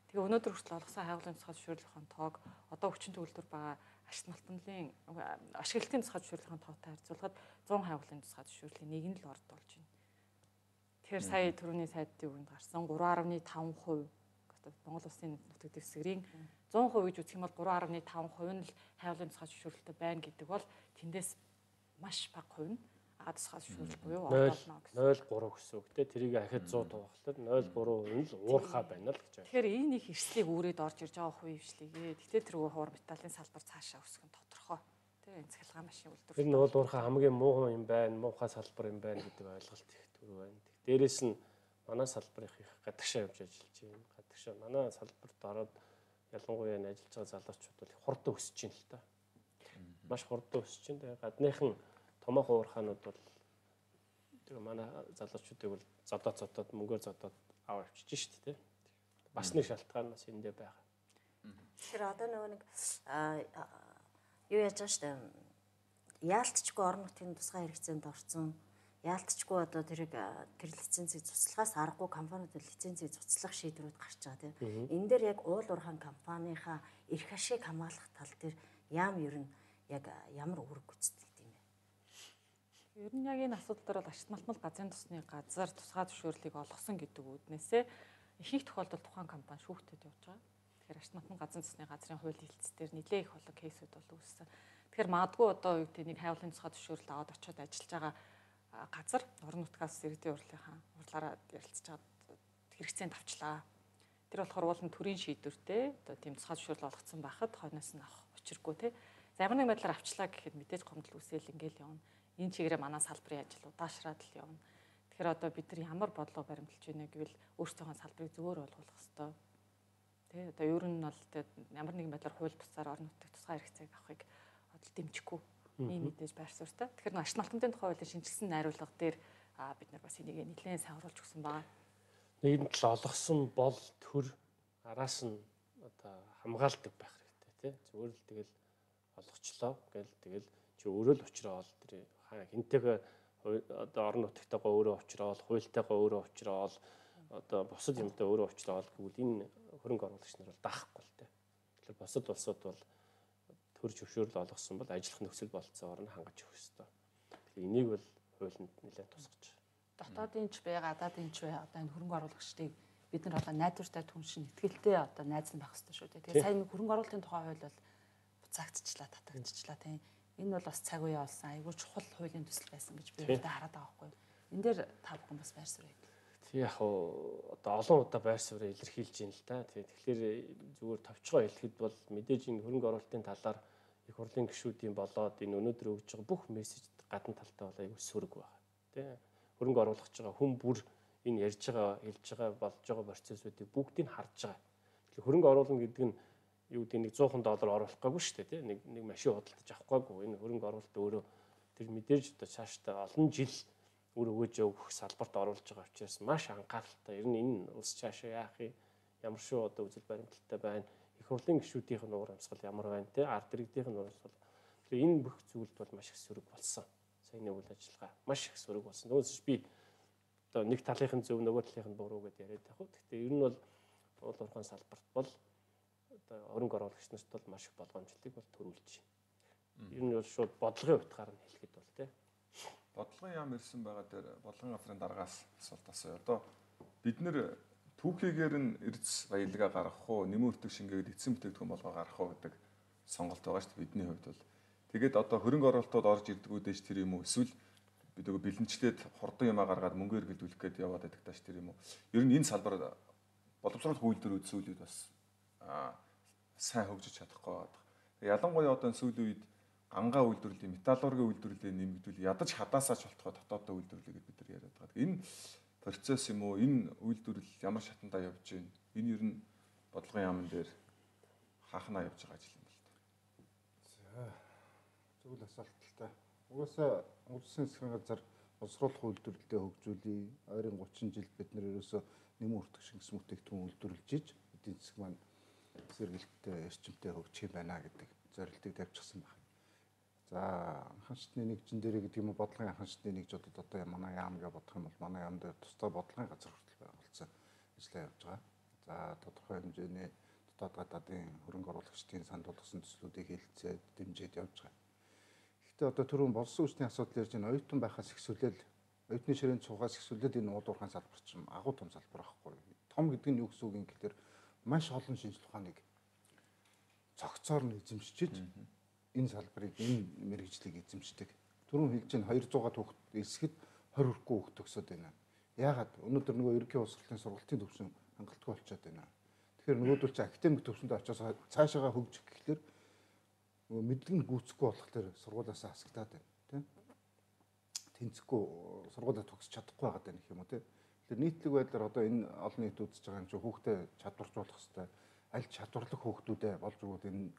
Тэгээ өнөөдөр хүртэл олгосон хайгуулын тусгай зөвшөөрлөхийн тоог одоо хүчин төгөлдөр байгаа ашиглалтын ашиглалтын тусгай зөвшөөрлөхийн тоотой харьцуулахад one hundred хайгуулын тусгай зөвшөөрлийн нэг нь л орд болж байна. Тэгэхээр сая түрүүний сайдын үгэнд гарсан three point five percent одоо Монгол Улсын нутаг дэвсгэрийн one hundred гэж үзэх юм бол three point five percent нь л хайгуулын тусгай зөвшөөрлөлтөй байна гэдэг бол тэндээс маш бага хувь нь агаад тусгай зөвшөөрөл буюу нуль олно гэсэн. нуль гурав гэсэн үг те тэрийг ахиад цуу туваахлаар нуль гурав нь л уурхаа байна л гэж байна. Тэгэхээр энэ их эрслийг үүрээд орж ирж байгаа хувь хвшлигээ. Тэгтээ тэргүй хуур металлын салбар цаашаа өсөх нь тодорхой. Тэ энэ цахилгаан машин үйлдвэрлэлт. Тэр нь бол уурхаа хамгийн муу юм байна, муухай салбар юм байна гэдэг ойлголт их түр байна. Дээрээс нь манай салбарын их гадагшаа явж ажиллаж байна. Гадагшаа манай салбарт ороод ялангуяа энэ ажиллаж байгаа залуучууд бол хурдан өсөж байна л та. Маш хурдан өсөж байна. Тэгээ гадныхан томоохон уурхаанууд бол тэгээ манай залуучуудыг бол зодоод зодоод мөнгөөр зодоод аваа авчиж шүү дээ. Бас нэг шалтгаан бас эндээ байгаа. Тэгэхээр одоо нөгөө нэг юу яаж байгаа шүү дээ. Яалтчгүй орон нутгийн тусгай хэрэгцээнд орсон. Яалтчгүй одоо тэрийг тэр лицензийг цуцлахаас аргагүй компаниуд лицензийг цуцлах шийдвэрүүд гарч байгаа тийм. Энэ дээр яг уул уурхайн компанийнхаа эрх ашиг хамгаалах тал дээр яам ер нь яг ямар үүрэг гүйцэтгэдэг юм бэ? Ер нь яг энэ асуудал дээр бол Ашигт малтмал газрын тосны газар тусгай зөвшөөрлийг олгосон гэдэг үүднээсээ их их тохиолдолд тухайн компани шүүхтэд явж байгаа. Тэгэхээр Ашигт малтмал газрын тосны газрын хууль хэлцээр нэлээ их болон кейсүүд бол үүссэн. Тэгэхээр магадгүй одоо юу гэдэг нэг хайвлын тусгай зөвшөөрөл аваад очиод ажиллаж байгаа газар орон нутгаас иргэдийн урлагийнхаа урлаараа ярилцж байгаа хэрэгцээнд авчлаа. Тэр болохоор уулын төрийн шийдвэртэй одоо тийм тусгай зөвшөөрөл олгоцсон байхад хойноос нь авах учиргүй тий. За ямар нэг байдлаар авчлаа гэхэд мэдээж гомдол үсэл ингээл явна. Энэ чигээрээ манай салбарын ажил удаашраад л явна. Тэгэхээр одоо бид нар ямар бодлого баримталж байна гэвэл өөрсдийнхөө салбарыг зөвөр ойлгох хэрэгтэй. Тэ одоо ер нь бол ямар нэгэн байдлаар хууль бусаар орон нутгийн тусгай хэрэгцээг авахыг одоо дэмжихгүй. Ийм мэдээж байр суурьтай. Тэгэхээр нэг Ашигт малтмын тухай хуулийн шинжилсэн найруулга дээр бид нар бас энийг нэлээд сайн оруулж өгсөн байгаа. Нийгэмд л олгосон бол төр араас нь одоо хамгаалдаг байх хэрэгтэй тий. Зүгээр л тэгэл олгочлоо гэл тэгэл чи өөрөө л уучраа ол тэр хинтэйгээ одоо орон нутгатайгаа өөрөө уучраа ол хуйлтайгаа өөрөө уучраа ол одоо бусад юмтай өөрөө уучраа ол гэвэл энэ хөрөнгө оруулагч нар бол даахгүй л тий. Тэгэхээр бусад улсууд бол төр зөвшөөрөл олгосон бол ажиллах нөхцөл болцоогоор нь хангаж өгөх ёстой. Тэгэхээр энийг бол хуулинд нэлээд тусгаж байна. Дотоодын ч бай, гадаадын ч бай одоо энэ хөрөнгө оруулагчдыг бид нар одоо найдвартай түншин итгэлтэй одоо найзан байх хэрэгтэй шүү дээ. Тэгээ сая хөрөнгө оруулалтын тухай хууль бол буцаагдчихлаа, татагдчихлаа тийм. Энэ бол бас цаг үе болсон. Айгүй чухал хуулийн төсөл байсан гэж би өөртөө хараад байгаа байхгүй. Энэ дээр та бүхэн бас байр суурь. Тэг яг одоо олон удаа байр суурь илэрхийлж байна л да. Тэгэхээр зүгээр товчгоо хэлэхэд бол мэдээж энэ хөрөнгө оруулалтын талаар их хурлын гишүүдийн болоод энэ өнөөдөр өгж байгаа бүх мессеж гадна талтай бол айгүй сөрөг байна. Тэ хөрөнгө оруулах байгаа хүн бүр энэ ярьж байгаа, хэлж байгаа, болж байгаа процессуудыг бүгдийг харж байгаа. Тэгэхээр хөрөнгө оруулна гэдэг нь юу гэдэг нэг сто доллар оруулах гаагүй шүү дээ. Тэ нэг нэг машин худалдаж авах гаагүй. Энэ хөрөнгө оруулалт өөрөө тэр мэдээж одоо цаашдаа олон жил үр өгөөж өгөх салбарт оруулж байгаа учраас маш анхааралтай. Ер нь энэ улс цаашаа яах юм, ямар шүү одоо үзэл баримталтай байна. Их хурлын гишүүдийнх нь уур амьсгал ямар байна те ард иргэдийнх нь уур амьсгал. Тэгэхээр энэ бүх зүйлд бол маш их сөрөг болсон. Саяны үйл ажиллагаа маш их сөрөг болсон. Түүнээс би одоо нэг талынхын зөв нөгөө талынхын буруу гэдээ яриад байх. Гэхдээ ер нь бол уул уурхайн салбарт бол одоо хөрөнгө оруулагч нарт бол маш их болгоомжлолыг бол төрүүлж байна. Ер нь бол шууд бодлогын утгаар нь хэлэхэд бол те бодлогын яам ирсэн байгаа дээр бодлогын газрын дараагаас асуулт асууя. Одоо бид нэр түүхийгээр нь эрдэс баялгаа гаргах уу, нэмэн өртөг шингээгээд эцсийн бүтээгдэхүүн болгоо гаргах уу гэдэг сонголт байгаа шүү дээ бидний хувьд бол. Тэгээд одоо хөрөнгө оруулалтууд орж ирдэг үдэж тэр юм уу? Эсвэл бид нөгөө бэлэнчлээд хурдан юмаа гаргаад мөнгөөр гэлдүүлэх гээд яваад байдаг тааш тэр юм уу? Ер нь энэ салбар боловсрол үйлдвэр үзүүлээд бас сайн хөгжиж чадахгүй байна. Ялангуяа одоо сүүлийн үед гангаа үйлдвэрлэлийн, металлургийн үйлдвэрлэлийн нэмэгдүүл ядаж хадаасаа шалтгаалж дотоодоо үйлдвэрлэгээд бид нар яриад байгаа. Энэ процесс юм уу? Энэ үйлдвэрлэл ямар шатандаа явж байна? Энэ ер нь бодлогын яамн дээр хаахнаа явж байгаа ажил юм байна л да. За зөвл асуулталтай. Угаасаа улсын засгийн газар боловсруулах үйлдвэрлэлээ хөгжүүлээ. Ойрын гучин жил бид нар ерөөсөө нэмэн өртөг шингэсэн бүтээгдэхүүн үйлдвэрлэж иж эдийн засаг маань сэргэлттэй эрчимтэй хөгжих юм байна гэдэг зорилтыг тавьчихсан байна. За анхан шатны нэгжин дээр гэдэг юм уу бодлогын анхан шатны нэгжүүдэд одоо манай яам гэж бодох юм бол манай яам дээр тусдаа бодлогын газар хүртэл байгуулсан ажиллаа явж байгаа. За тодорхой хэмжээний дотоод гадаадын хөрөнгө оруулагчдын санд болгосон төслүүдийг хэлэлцээд дэмжиж явж байгаа. Гэхдээ одоо түрүүн болсон хүчний асуудал ярьж байна. Оюутан байхаас ихсүүлэл оюутны ширээнд суугаас ихсүүлээд энэ уул уурхайн салбар чинь агуу том салбар байхгүй. Том гэдэг нь юу гэсэн үг юм гэхээр маш олон шинжлэх ухааныг цогцоор нь эзэмшиж энэ салбарыг энэ мэргэжлийг эзэмшдэг. Түрүүн хэлж чинь двухсад хүүхэд элсгэд тwenty хүрэхгүй хүүхэд төгсөөд байна. Яагаад өнөөдөр нөгөө ерөнхий боловсролын сургалтын төвшин хангалттай болчиход байна. Тэгэхээр нөгөөдөл чи академик төвшөндөө очиж цаашаага хөгжих гэхлээр нөгөө мэдлэг гүйцэхгүй болохоор сургуулиасаа хасагдаад байна, тийм. Тэнцэхгүй сургуулиа төгсөж чадахгүй байгаад байна гэх юм уу, тийм. Тэгэхээр нийтлэг байдлаар одоо энэ олон нийт үзэж байгаа юм чи хүүхдээ чадваржуулах хэрэгтэй. Аль чадварлаг хүүхдүүдээ болж өгөөд энэ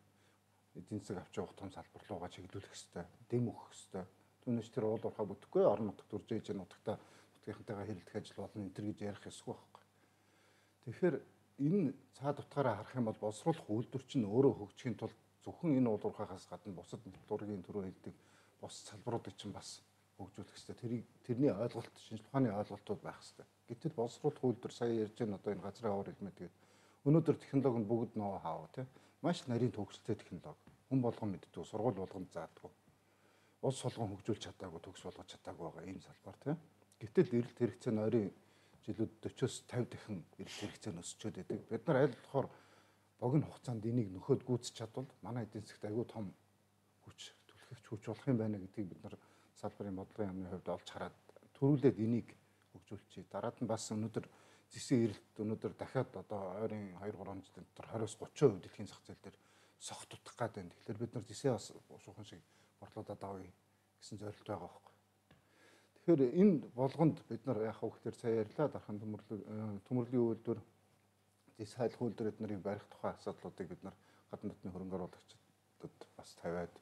эдийн засаг авч явах том салбар руугаа чиглүүлэх хэрэгтэй. Дэм өгөх хэрэгтэй. Түүнээс тэр уул уурхай бүтэхгүй орон нутагт төрж ээж нутагта нутгийнхантайгаа хэрэлдэх ажил болно энэ төр гэж ярих ёсгүй байхгүй. Тэгэхээр энэ цаад утгаараа харах юм бол боловсруулах үйлдвэр чинь өөрөө хөгжихийн тулд зөвхөн энэ уул уурхайхаас гадна бусад дургийн төрөө хэлдэг бус салбаруудыг чинь бас хөгжүүлэх хэрэгтэй. Тэрийг тэрний ойлголт, шинжлэх ухааны ойлголтууд байх хэрэгтэй. Гэтэл боловсруулах үйлдвэр сая ярьж байгаа одоо энэ газрын аваар хэлмээ тэгээд өнөөдөр технологи нь бүгд ноу хаа тий маш нарийн төгсөлтэй технологи. Хүн болгон мэддэг, сургууль болгон заадаггүй. Улс солгон хөгжүүлж чадаагүй, төгс болгож чадаагүй байгаа ийм салбар тий. Гэтэл эрэлт хэрэгцээ нь ойрын жилүүд forty-с fifty дахин эрэлт хэрэгцээ нь өсчөөд байдаг. Бид нар аль болохоор богино хугацаанд энийг нөхөд гүйцэж чадвал манай эдийн засагт аюул том хүч түлхэгч хүч болох юм байна гэдгийг бид нар салбарын бодлогын яамны хувьд олж хараад төрүүлээд энийг хөгжүүлчихье. Дараад нь бас өнөөдөр зэсийн эрэлт өнөөдөр дахиад одоо ойрын two three жилийн дотор twenty-с thirty percent дэлхийн зах зээл дээр согт тутах гээд байна. Тэгэхээр бид нар зэсээ бас шуухан шиг борлуулаад авъя гэсэн зорилт байгаа байхгүй. Тэгэхээр энэ болгонд бид нар яах вэ гэхээр сая ярьлаа дархан төмөрлөг төмөрлөгийн үйлдвэр зэс хайлах үйлдвэр эднэрийг барих тухай асуудлуудыг бид нар гадны дотны хөрөнгө оруулагчдад бас тавиад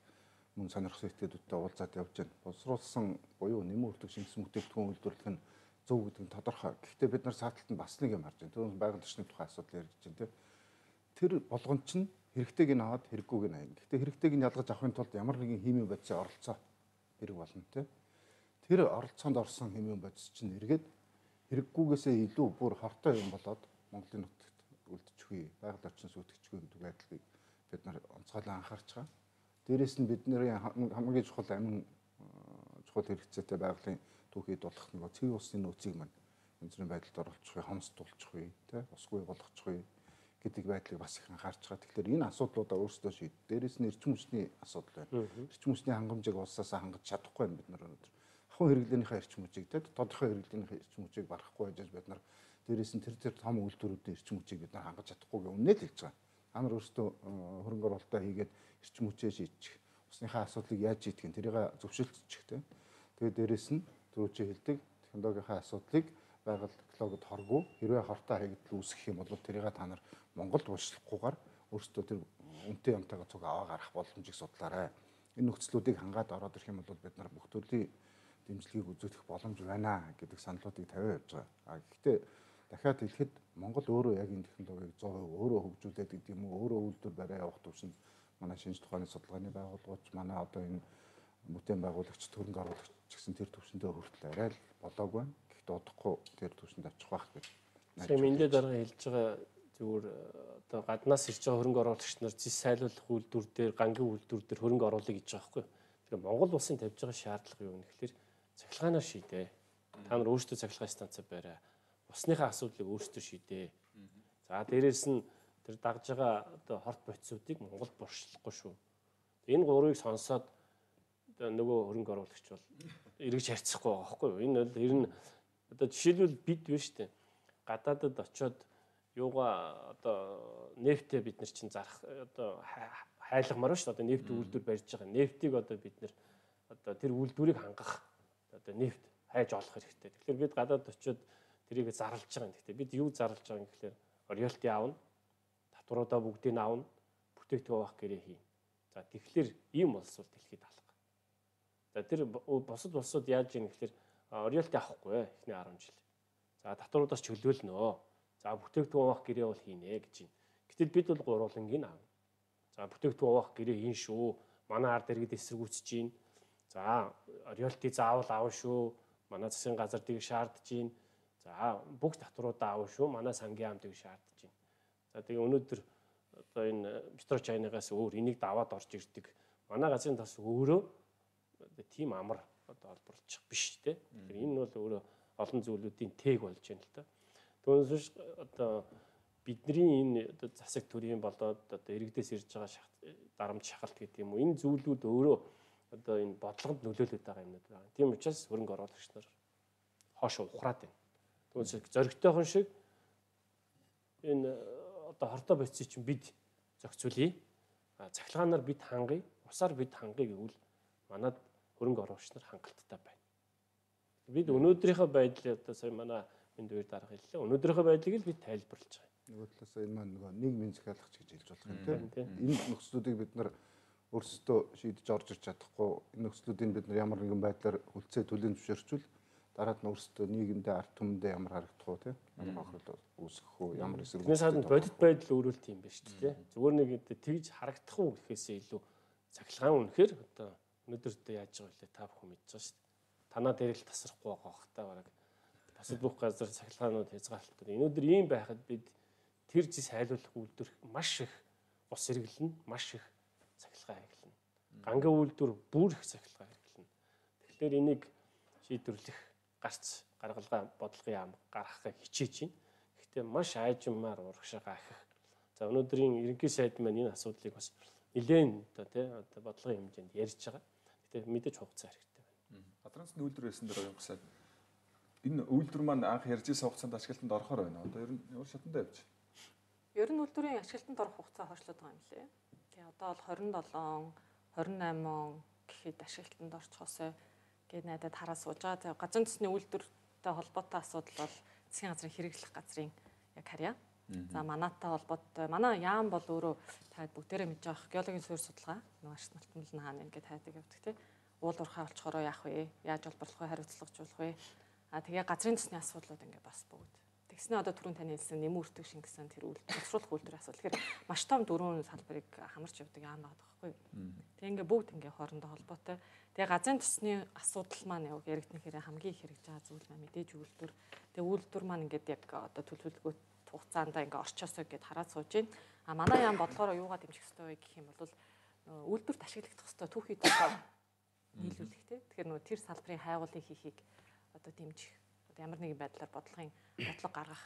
мөн сонирхсан этгээдүүдтэй уулзаад явж байна. Боловсруулсан буюу нэмэн хүртэг шингэсэн бүтээгдэхүүн үйлдвэрлэх нь зөв гэдэг нь тодорхой. Гэхдээ бид нар сааталтанд бас нэг юм харж байна. Түрүүн байгаль орчны тухай асуудал ярьж байна тийм. Тэр болгон чинь хэрэгтэйг нь аваад хэрэггүйг нь аяна. Гэхдээ хэрэгтэйг нь ялгаж авахын тулд ямар нэгэн химийн бодисын оролцоо хэрэг болно тийм. Тэр оролцоонд орсон химийн бодис чинь эргээд хэрэггүйгээсээ илүү бүр хортой юм болоод Монголын нутагт үлдчихвээ. Байгаль орчноос үүдчихвээ гэдэг байдлыг бид нар онцгойлон анхаарч байгаа. Дээрээс нь бидний хамгийн чухал амин чухал хэрэгцээтэй байгалийн түүхийд болох нэг цэвэр усны нөөцийг маань өнцрийн байдалд оруулчихвээ, хомсдуулчихвээ, тий, усгүй болгочихвээ гэдэг байдлыг бас их анхаарч байгаа. Тэгэхээр энэ асуудлуудаа өөрсдөө шийд. Дээрээс нь эрчим хүчний асуудал байна. Эрчим хүчний хангамжийг улсаасаа хангаж чадахгүй юм бид нар өнөөдөр. Ахуйн хэрэглээнийхээ эрчим хүчийг, тий, тодорхой хэрэглээнийхээ эрчим хүчийг барахгүй байж бид нар дээрээс нь тэр тэр том үйлдвэрүүдийн эрчим хүчийг бид нар хангаж чадахгүй гэх үнээр хэлж байгаа. Та нар өөрсдөө хөрөнгө оруулалтаа хийгээд эрчим хүчээ шийдчих. Усныхаа асуудлыг яаж шийдэх нь тэрийг зөвшөөрчих, тий. Тэгээд дээрээс нь түрүү чи хэлдэг технологийн асуудлыг байгаль технологид хоргүй хэрвээ хортой хаягдл үүсгэх юм бол тэрийг та нар Монголд уншлахгүйгээр өөрсдөө тэр үнэтэй юмтайгаа цуг аваа гарах боломжийг судлаарай. Энэ нөхцлүүдийг хангаад ороод ирэх юм бол бид нар бүх төрлийн дэмжлэгийг үзүүлэх боломж байна гэдэг саналуудыг тавиа явж байгаа. А гэхдээ дахиад хэлэхэд Монгол өөрөө яг энэ технологиг one hundred percent өөрөө хөгжүүлээд гэдэг юм уу, өөрөө үйлдвэр барай явах төвшөнд манай шинжлэх ухааны судалгааны байгууллагууд манай одоо энэ бүтээн байгуулагч хөрөнгө оруулагч гэсэн тэр төвшөндөө хүртэл арай л болоогүй. Гэхдээ удахгүй тэр төвшөнд очих байх гэж. Тийм эндээ дараа хэлж байгаа зүгээр одоо гаднаас ирж байгаа хөрөнгө оруулагч нар зис сайлуулах үйлдвэр дээр, гангийн үйлдвэр дээр хөрөнгө оруулах гэж байгаа байхгүй. Тэгэхээр Монгол улсын тавьж байгаа шаардлага юу вэ гэхээр цахилгаанаар шийдээ. Та нар өөрсдөө цахилгаан станц барай. Усныхаа асуудлыг өөрсдөө шийдээ. За дээрээс нь тэр дагж байгаа одоо хорт бодисуудыг Монгол боршлохгүй шүү. Энэ гурыг сонсоод нөгөө хөрөнгө оруулагч бол эргэж харьцахгүй байгаа байхгүй юу? Энэ бол ер нь одоо жишээлбэл бид биш үү? Гадаадд очиод юугаа одоо нефтээ бид нар чинь зарах одоо хайлагмаар шүү. Одоо нефт үйлдвэр барьж байгаа. Нефтийг одоо бид нар одоо тэр үйлдвэрийг хангах одоо нефт хайж олох хэрэгтэй. Тэгэхээр бид гадаад очиод тэрийг зарлж байгаа юм. Гэхдээ бид юу зарлж байгаа юм гэхээр роялти аавна, татваруудаа бүгдийг нь аавна, бүтээгдэхүүн авах гэрээ хий. За тэгэхээр ийм улс бол дэлхийд алга. За тэр бусад улсууд яаж ийм гэхээр роялти авахгүй эхний ten жил. За татваруудаас чөлөөлнө. За бүтээгдэхүүн авах гэрээ бол хийнэ гэж байна. Гэтэл бид бол гурвангийн аав. За бүтээгдэхүүн авах гэрээ хийн шүү. Манай ард иргэд эсэргүүцэж байна. За роялти заавал аав шүү. Манай засгийн газар тийг шаардж байна. За бүх татваруудаа аав шүү. Манай сангийн ам тийг шаардж байна. За тэгээ өнөөдөр одоо энэ Петрочайнаас өөр энийг даваад орж ирдэг. Манай газрын тас өөрөө тийм амар одоо олборлчих биш те. Тэгэхээр энэ бол өөрөө олон зүйлүүдийн тээг болж байна л да. Түүнээс биш одоо бидний энэ одоо засаг төрийн болоод одоо иргэдээс ирж байгаа дарамт шахалт гэдэг юм уу энэ зүйлүүд өөрөө одоо энэ бодлогод нөлөөлөд байгаа юмнууд байна. Тийм учраас хөрөнгө оруулагч нар хоошо ухраад байна. Түүнээс зоригтойхон шиг энэ одоо хордоо бодисыг чинь бид зохицуулъя. Цахилгаанаар бид хангая, усаар бид хангая гэвэл манад хөрөнгө оруулагч нар хангалттай байна. Бид өнөөдрийнхөө байдлыг одоо сая манай энд үеэр дарга хэллээ. Өнөөдрийнхөө байдлыг л бид тайлбарлаж байгаа. Нөгөө талаас энэ маань нөгөө нийгмийн захиалагч гэж хэлж болох юм тийм. Энэ нөхцлүүдийг бид нар өөрсдөө шийдэж орж ирч чадахгүй. Энэ нөхцлүүдийг бид нар ямар нэгэн байдлаар хүлцээ түлэн зөвшөөрчвөл дараад нь өөрсдөө нийгэмдээ ард түмэндээ ямар харагдах уу тийм. Ямар бохирдол үүсгэх уу, ямар эсрэг. Тэрнээс гадна бодит байдал өөрөөлт юм байна шүү дээ. Зүгээр нэг тэгж харагдах уу гэхээсээ илүү цахилгаан үнэхээр одоо өнөөдөр одоо яаж байгаа вэ та бүхэн мэдж байгаа шүү дээ. Танаа дээр л тасрахгүй байгаа хөх та бараг. Бусад бүх газар цахилгаанууд хязгаарлалтууд. Өнөөдөр ийм байхад бид тэр зис хайлуулах үйлдвэр маш их ус хэрэглэнэ, маш их цахилгаан хэрэглэнэ. Гангийн үйлдвэр бүр их цахилгаан хэрэглэнэ. Тэгэхээр энийг шийдвэрлэх гарц гаргалгаа бодлогын яам гаргахыг хичээж байна. Гэхдээ маш айжмаар урагшаа их. За өнөөдрийн ерөнхий сайд маань энэ асуудлыг бас нэлээд одоо тий одоо бодлогын хэмжээнд ярьж байгаа. Гэхдээ мэдээж хугацаа хэрэгтэй байна. Гадраас нь үйлдвэр байсан дээр оюун сайд энэ үйлдвэр маань анх ярьж исэн хугацаанд ашиглалтанд орохоор байна. Одоо ер нь ямар шатанд явж байна? Ер нь үйлдвэрийн ашиглалтанд орох хугацаа хойшлоод байгаа юм лээ. Тэгээ одоо бол хорин долоо, хорин найман гэхэд ашиглалтанд орчихосоо гээд найдад хараа сууж байгаа. Тэгээ газрын төсний үйлдвэртэй холбоотой асуудал бол засгийн газрын хэрэглэх газрын яг харьяа. За манайтай холбоотой манай яам бол өөрөө таад бүгдээрээ мэдж байгаа геологийн суурь судалгаа нөгөө ашиг малтмал нь хаана ингээд хайдаг явдаг тий. Уул уурхай олцохороо яах вэ? Яаж олборлох вэ? Хариуцлагажуулах вэ? А тэгээ газрын төсний асуудлууд ингээд бас бүгд. Тэгснэ одоо түрүүн таны хэлсэн нэмэн үртэг шингэсэн тэр үйлдвэр боловсруулах үйлдвэрийн асуудал. Тэгэхээр маш том дөрвөн салбарыг хамарч явдаг яам байгаа байхгүй юу? Тэгээ ингээд бүгд ингээд хоорондоо холбоотой. Тэгээ газрын төсний асуудал маань яг яригдсан хэрэг хамгийн их хэрэгж байгаа зүйл маань мэдээж үйлдвэр. Тэгээ үйлдвэр маань ингээд яг одоо төлөвлөгөө хугацаанд ингээ орчоосоо гэд хараад сууж байна. А манай яам бодлогоор юугаа дэмжих ёстой вэ гэх юм бол үйлдвэрт ашиглагдах ёстой түүхий төлөв нийлүүлэх тий. Тэгэхээр нөгөө тэр салбарын хайгуулыг хийхийг одоо дэмжих. Одоо ямар нэгэн байдлаар бодлогын бодлого гаргах.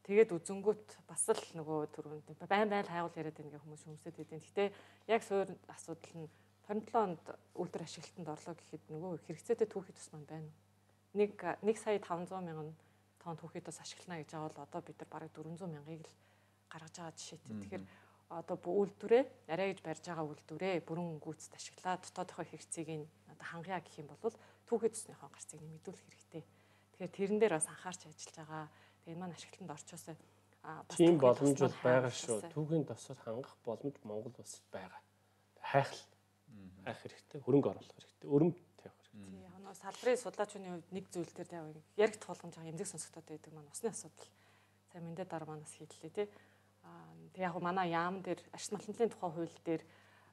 Тэгээд үзэнгүүт бас л нөгөө түрүүнд байн байн хайгуул яриад байгаа хүмүүс хүмүүсэд хэдийн. Гэтэ яг суурь асуудал нь двадцать seven онд үйлдвэр ашиглалтанд орлоо гэхэд нөгөө хэрэгцээтэй түүхий төс маань байна. Нэг нэг сая five hundred мянган тонн түүхий төс ашиглана гэж байгаа бол одоо бид нар бараг four hundred мянгаыг л гаргаж байгаа жишээтэй. Тэгэхээр одоо үйлдвэрээ арай гэж барьж байгаа үйлдвэрээ бүрэн гүйцэд ашиглаад дотоодынхоо хэрэгцээг нь одоо хангая гэх юм бол түүхий төснийхөө гарцыг нэмэгдүүлэх хэрэгтэй. Тэгэхээр тэрэн дээр бас анхаарч ажиллаж байгаа. Тэгээ энэ маань ашиглалтанд орчоосоо бас тийм боломж бол байгаа шүү. Түүхийн тосоор хангах боломж Монгол улсад байгаа. Хайхал хайх хэрэгтэй, хөрөнгө оруулах хэрэгтэй, өрөмт тавих хэрэгтэй. Тийм яг нь салбарын судлаачны хувьд нэг зүйл дээр яг яригдах болгомж байгаа эмзэг сонсогдоод байдаг маань усны асуудал. Сайн мэндэ дараа манаас хийлээ тий. Аа тэг яг манай яам дээр ашиг малтмын тухай хууль дээр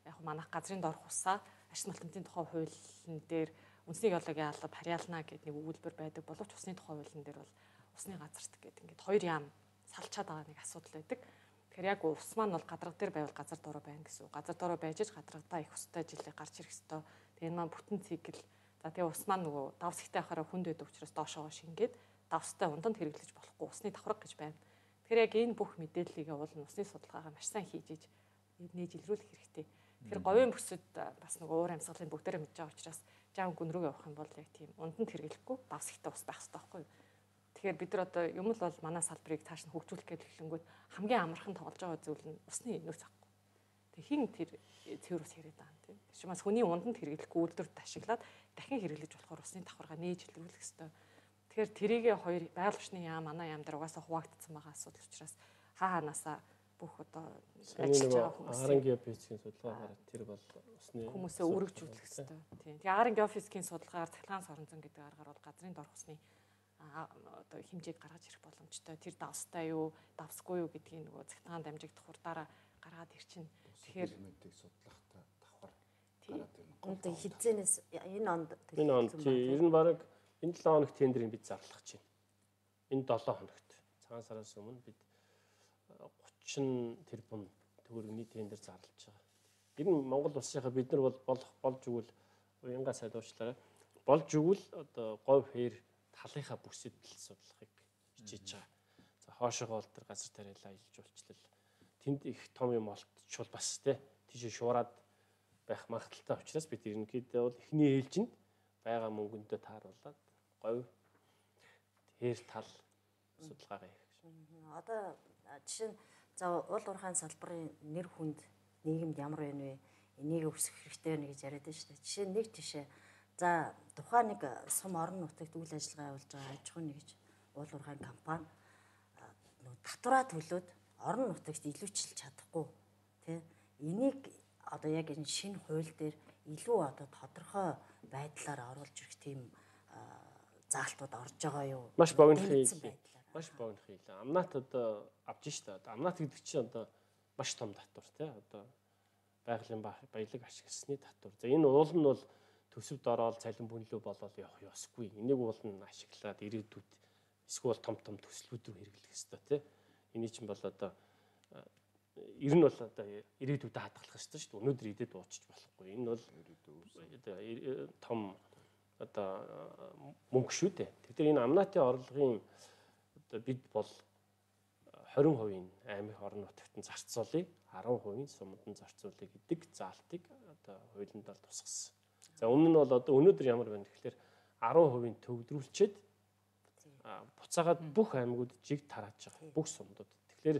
яг манайх газрын дорх усаа ашиг малтмын тухай хуулийн дээр үндэсний геологийн алба харьяална гэдэг нэг өгүүлбэр байдаг боловч усны тухай хуулийн дээр бол усны газарт гэдэг ингээд хоёр яам салчаад байгаа нэг асуудал байдаг. Тэгэхээр яг ус маань бол гадарга дээр байвал газар дороо байна гэсэн. Газар дороо байж ч гадрагдаа их устай жилээ гарч ирэх ёстой. Тэгээ энэ маань бүтэн цикл. За тэгээ ус маань нөгөө давс ихтэй ахаараа хүнд байдаг учраас доошоо шингээд давстай унданд хэрэглэж болохгүй усны давхраг гэж байна. Тэгэхээр яг энэ бүх мэдээллийг уул нь усны судалгаагаа маш сайн хийж иж нээж илрүүлэх хэрэгтэй. Тэгэхээр говийн бүсэд бас нөгөө уур амьсгалын бүгдээрээ мэдж байгаа учраас жаам гүн рүү явах юм бол яг тийм унданд хэрэглэхгүй давс ихтэй ус байх хэрэгтэй байхгүй юу? Тэгэхээр бид нар одоо юм л бол манай салбарыг цааш нь хөгжүүлэх гэж хэлэнгүүт хамгийн амархан тоглож байгаа зүйл нь усны нөөц ахгүй. Тэг хин тэр цэвэр ус яриад байгаа юм тийм. Тиймээс хүний унданд хэрэглэхгүй үйлдвэрт ашиглаад дахин хэрэглэж болохоор усны давхаргаа нээж илрүүлэх ёстой. Тэгэхээр тэрийгээ хоёр байгаль орчны яам манай яам дээр угаасаа хуваагдсан байгаа асуудал учраас хаа ханаасаа бүх одоо ажиллаж байгаа хүмүүс ар эн геофизикийн судалгаагаар тэр бол усны хүмүүсээ өргөжүүлэх ёстой. Тийм. Тэгээ ар эн геофизикийн судалгаагаар цахилгаан соронзон гэдэг аргаар бол газрын дорх усны одоо хэмжээг гаргаж ирэх боломжтой. Тэр давстай юу, давсгүй юу гэдгийг нөгөө цахилгаан дамжигдах хурдаараа гаргаад ирчин. Тэгэхээр элементийг судлахтай давхар гараад ирнэ. Энд хизээнээс энэ онд энэ онд ер нь баг энэ seven хоног тендерийг бид зарлах чинь. Энэ seven хоногт цагаан сараас өмнө бид thirty тэрбум төгрөгийн тендер зарлаж байгаа. Ер нь Монгол улсынхаа бид нар бол болох болж өгвөл уянга сайдуучлаарай. Болж өгвөл одоо говь хээр талынхаа бүсэд л судлахыг хичээж байгаа. За хоошоогоо бол тэр газар тариалаа илж уулчлал. Тэнд их том юм олтчвал бас тий тийш шуураад байх магадaltaй учраас бид ерөнхийдөө бол эхний ээлжинд байгаа мөнгөндөө тааруулаад говь тэр тал судалгаагаа хийх гэж. Одоо жишээ нь за уул уурхайн салбарын нэр хүнд нийгэмд ямар байна вэ? Энийг өсгөх хэрэгтэй байна гэж яриад байна шүү дээ. Жишээ нь нэг жишээ. За тухайн нэг сум орон нутагт үйл ажиллагаа явуулж байгаа аж ахуйн нэгж уул уурхайн компани татвараа төлөөд орон нутагт илүүчилж чадахгүй тий. Энийг одоо яг энэ шинэ хууль дээр илүү одоо тодорхой байдлаар оруулж ирэх тийм заалтууд орж байгаа юу? Маш богино хийлээ. Маш богино хийлээ. Амнат одоо авж штэ. Амнат гэдэг чинь одоо маш том татвар тий. Одоо байгалийн баялаг ашигласны татвар. За энэ уул нь бол төсөвд ороод цалин бүнлүү болоод явах ёсгүй. Энийг уул нь ашиглаад ирээдүйд эсвэл том том төслүүд рүү хэрэглэх ёстой тий. Эний чинь бол одоо ер нь бол одоо ирээдүйд хадгалах ёстой шүү дээ. Өнөөдөр идээд дуучиж болохгүй. Энэ бол одоо том одоо мөнгө шүү дээ. Тэгэхээр энэ амнатын орлогын одоо бид бол двадцать хувийн аймаг орон нутагт нь зарцуулъя, десять хувийн сумд нь зарцуулъя гэдэг заалтыг одоо хуулинд бол тусгасан. За өмнө нь бол одоо өнөөдөр ямар байна гэхээр десять хувийн төвлөрүүлчихэд буцаагаад бүх аймагуд жиг тарааж байгаа. Бүх сумдууд. Тэгэхээр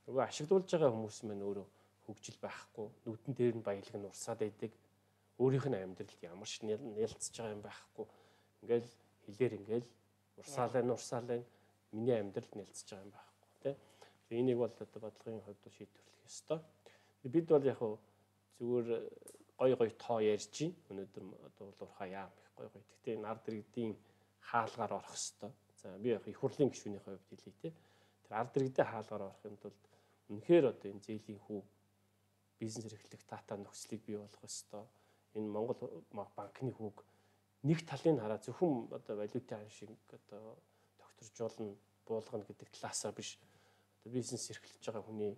нөгөө ашиглуулж байгаа хүмүүс маань өөрөө хөгжил байхгүй, нүдэн дээр нь баялаг нь урсаад байдаг. Өөрийнх нь амьдралд ямар ч нээлтсэж байгаа юм байхгүй. Ингээл хилээр ингээл урсаалаа нь урсаалаа миний амьдралд нээлтсэж байгаа юм байхгүй тий. Тэгэхээр энийг бол одоо бодлогын хувьд шийдвэрлэх ёстой. Бид бол яг хөө зүгээр гой гой тоо ярьж чинь өнөөдөр одоо уурхаа яам их гой гой. Гэхдээ энэ ард иргэдийн хаалгаар орох ёстой. За би яг их хурлын гишүүний хувьд хэлье тий. Тэр ард иргэдийн хаалгаар орохын тулд үнэхээр одоо энэ зээлийн хүү бизнес эрхлэх тата нөхцөлийг бий болгох ёстой. Энэ Монгол банкны хүүг нэг талын хараа зөвхөн одоо валютын шиг одоо докторжуулна буулгана гэдэг талаасаа биш одоо бизнес эрхлэж байгаа хүний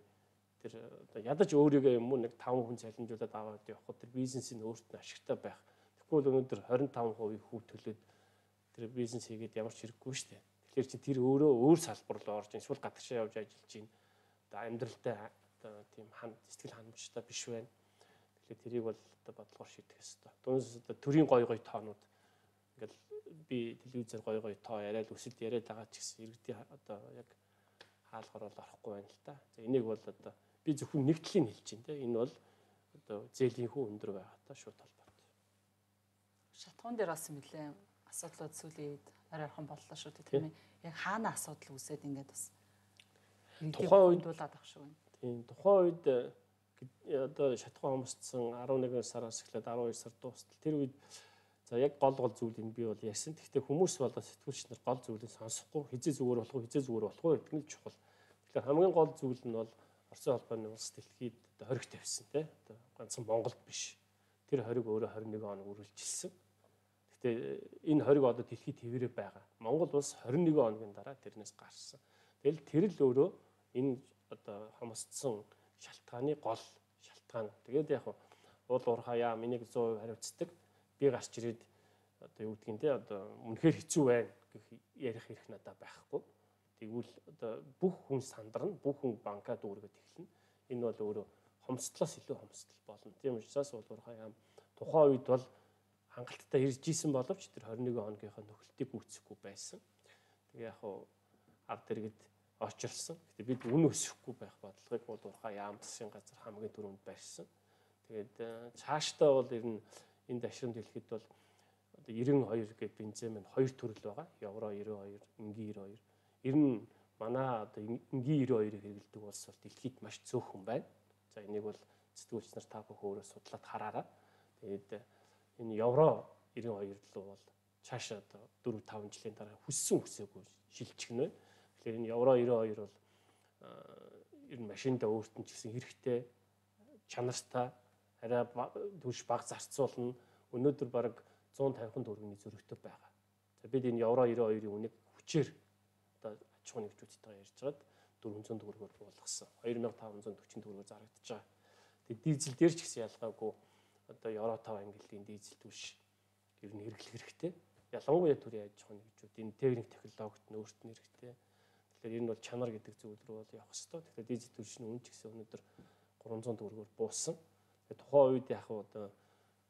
тэр одоо ядаж өөрийгөө юм уу нэг таван хүн цалинжуулаад аваад явхад тэр бизнесийн өөрт нь ашигтай байх. Тэгвэл өнөөдөр двадцать и пять хувийн хүү төлөөд тэр бизнес хийгээд ямар ч хэрэггүй шүү дээ. Тэгэхээр чи тэр өөрөө өөр салбар руу орж эсвэл гадагшаа явж ажиллаж чинь одоо амьдралтай одоо тийм хан сэтгэл ханамжтай биш байна. Тэгэхээр тэрийг бол одоо бодлогоор шийдэх ёстой. Түүнээс одоо төрийн гой гой тоонууд ингээл би телевизээр гой гой тоо яриад өсөлт яриад байгаа ч гэсэн иргэдийн одоо яг хаалгаар бол орохгүй байна л та. За энийг бол одоо би зөвхөн нэг талыг хэлж байна те. Энэ бол одоо зээлийн хүү өндөр байгаатай шууд холбоотой. Шатхуун дээр бас нэлээ асуудлууд сүүлийн үед ойрхон боллоо шүү дээ тийм ээ. Яг хаана асуудал үүсээд ингээд бас тухайн үед дуулаад авах шиг байна. Тийм тухайн үед одоо шатхуун хомсдсон eleven сараас эхлээд twelve сар дуустал тэр үед за яг гол гол зүйлийг би бол ярьсан. Гэхдээ хүмүүс болоо сэтгүүлч нар гол зүйлийг сонсохгүй хизээ зүгээр болох уу хизээ зүгээр болох уу гэдэг нь чухал. Тэгэхээр хамгийн гол зүйл нь бол Оросын холбооны улс дэлхийд одоо хориг тавьсан тийм одоо ганцхан Монголд биш. Тэр хориг өөрөө twenty-one хоног үргэлжилсэн. Гэхдээ энэ хориг одоо дэлхийд хэвээрээ байгаа. Монгол улс twenty-one хоногийн дараа тэрнээс гарсан. Тэгэл тэр л өөрөө энэ одоо хомсдсон шалтгааны гол шалтгаан. Тэгээд яг уул уурхаа яа миний one hundred percent хариуцдаг. Би гарч ирээд одоо юу гэдгийг те одоо үнэхээр хэцүү байна гэх ярих хэрэг надад байхгүй. Тэгвэл одоо бүх хүн сандарна, бүх хүн банкаа дүүргээд эхэлнэ. Энэ бол өөрөө хомсдлоос илүү хомсдол болно. Тийм учраас уул уурхаа яа тухайн үед бол хангалттай ирж исэн боловч тэр twenty-one хоногийнхаа нөхөлтийг үүсэхгүй байсан. Тэгээ яг хуу ард иргэд очилсан. Гэтэ бид үн өсөхгүй байх бодлогыг уул уурхаа яам засгийн газар хамгийн түрүүнд барьсан. Тэгээд цаашдаа бол ер нь энэ дашрам дэлхийд бол одоо ninety-two гэдэг бензин маань хоёр төрөл байгаа. Евро ninety-two, инги ninety-two. Ер нь манай одоо инги ninety-two-ыг хэрэглэдэг улс бол дэлхийд маш цөөхөн байна. За энийг бол сэтгүүлч нар та бүхэн өөрөө судлаад хараарай. Тэгээд энэ евро ninety-two руу бол цаашаа одоо four five жилийн дараа хүссэн хүсээгүй шилжчихнэ. Тэгэхээр энэ евро ninety-two бол ер нь машиндаа өөрт нь ч гэсэн хэрэгтэй чанартай арай түвш баг зарцуулна. Өнөөдөр бараг one fifty төгрөгийн зөрөгтэй байгаа. За бид энэ евро ninety-two-ийн үнийг хүчээр одоо аж ахуйн нэгжүүдтэйгээ ярьж байгаад four hundred төгрөгөөр буулгасан. two thousand five hundred forty төгрөгөөр зарагдаж байгаа. Тэгээд дизель дээр ч гэсэн ялгаагүй одоо евро five ангиллын дизель түвш ер нь хэрэглэх хэрэгтэй. Ялангуяа төрийн аж ахуйн нэгжүүд энэ техник технологид нь өөрт нь хэрэгтэй. Тэгэхээр энэ бол чанар гэдэг зүйл рүү бол явах хэрэгтэй. Тэгэхээр дизель түвшний үн ч гэсэн өнөөдөр three hundred төгрөгөөр буусан. Тухайн үед яг одоо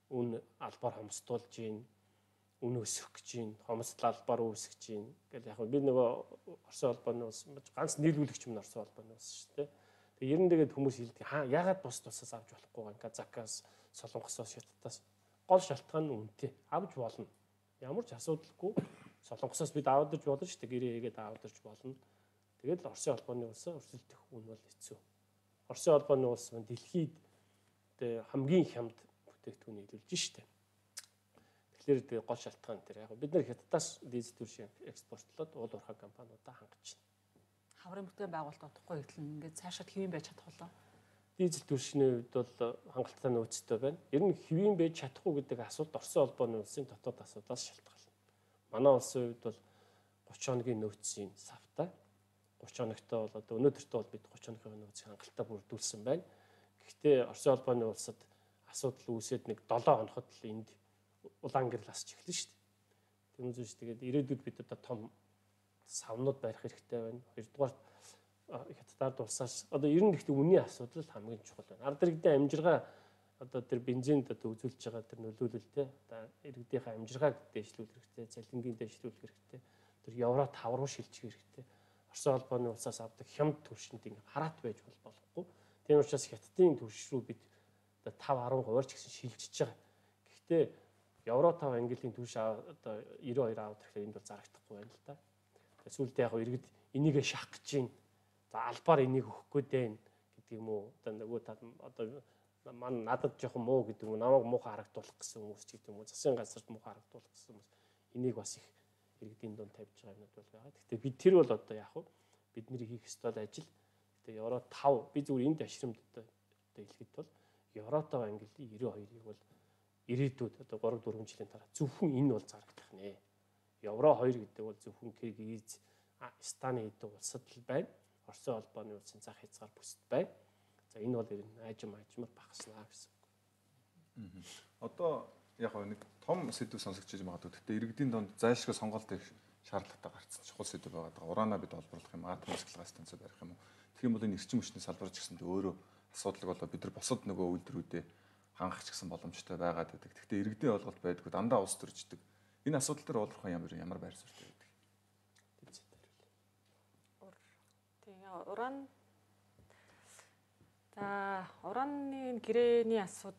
үн албаар хомсдуулж гин, үн өсөх гэж гин, хомсдол албаар үүсгэж гин гэл яг би нөгөө Оросын холбооны улс ганц нийлүүлэгч юм Оросын холбооны улс шүү дээ. Тэгээ ер нь тэгээд хүмүүс хэлдэг хаа ягаад бус тусаас авч болохгүй юм Казакаас, Солонгосоос, Хятадаас гол шалтгаан нь үнэтэй авч болно. Ямар ч асуудалгүй Солонгосоос бид авдаж болно шүү дээ. Гэрээ хийгээд авдаж болно. Тэгээд л Оросын холбооны улсаа өрсөлдөх үн бол хэцүү. Оросын холбооны улс нь дэлхийд хамгийн хямд бүтээгдэхүүн нийлүүлж штэ. Тэгэхээр тэгээ гол шалтгаан дээр яг бид нар Хятадаас дизель түвшин экспортлоод уул уурхай компаниудаа хангаж байна. Хаврын бүтээн байгуулалт утгагүй гэхэл ингээд цаашаа хэвэн байж чадах болоо. Дизель түвшний үед бол хангалттай нөөцтэй байна. Ер нь хэвэн байж чадахгүй гэдэг асуулт Оросын холбооны улсын дотоод асуудлаас шалтгаална. Манай улсын үед бол гурван хоногийн нөөцийн савтай. гурван хоногтой бол одоо өнөөдөртөө бол бид гурван хоногийн нөөцийн хангалттай бүрдүүлсэн байна. Гэхдээ Оросын холбооны улсад асуудал үүсээд нэг долоон хоногт л энд улаан гэрэл асч эхэлнэ шүү дээ. Тэр үзэж тэгээд ирээдүйд бид одоо том савнууд барих хэрэгтэй байна. Хоёрдугаар Хятадд улсаас одоо ер нь гэхдээ үнийн асуудал хамгийн чухал байна. Ард иргэдийн амжиргаа одоо тэр бензинд одоо үзүүлж байгаа тэр нөлөөлөлтэй одоо иргэдийнхээ амжиргааг дэвшлүүлэх хэрэгтэй, цалингийн дэвшлүүлэх хэрэгтэй. Тэр евро тав руу шилжих хэрэгтэй. Оросын холбооны улсаас авдаг хямд түвшинд ингэ хараат байж болохгүй. Тийм учраас Хятадын түвш рүү бид одоо тав арван хувиар ч гэсэн шилжиж байгаа. Гэхдээ евро тав ангилын түвш одоо девяносто two авах гэхээр энд бол зарагдахгүй байна л да. Тэгээд сүүлдээ яг иргэд энийгээ шахах гэж байна. За албаар энийг өгөх гээд байна гэдэг юм уу? Одоо нөгөө одоо мань надад жоохон муу гэдэг юм уу? Намайг муухай харагдуулах гэсэн хүмүүс ч гэдэг юм уу? Засгийн газарт муухай харагдуулах гэсэн хүмүүс. Энийг бас их иргэдийн дунд тавьж байгаа юмнууд бол байгаа. Гэхдээ бид тэр бол одоо яг бидний хийх ёстой ажил. Гэхдээ евро тав би зүгээр энд ашрамд одоо хэлэхэд бол евро тав ангилын девяносто two-ыг бол ирээдүйд одоо three four жилийн дараа зөвхөн энэ бол зарагдах нэ. евро two гэдэг бол зөвхөн Киргиз, Станы хэдэн улсад л байна. Оросын холбооны улсын зах хязгаар бүсэд байна. За энэ бол ер нь аажим аажмаар багаснаа гэсэн үг. Одоо яг нэг том сэдв сонсогдож магадгүй. Гэхдээ иргэдийн донд зайлшгүй сонголт их шаардлагатай гарцсан чухал сэдв байгаа. Ураанаа бид олборлох юм, атом цэцлэгээ станцаа барих юм уу? Тэгэх юм бол энэ эрчим хүчний салбарч гэсэндээ өөрөө асуудал болоо бид нар босод нөгөө үйлдвэрүүдэд хангах ч гэсэн боломжтой байгаад байдаг. Гэхдээ иргэдийн ойлголт байдгүй дандаа ус төрждөг. Энэ асуудал дээр олборлох ямар ямар байр суурьтай байдаг. Тэгээ уран за ураны гэрээний асуудал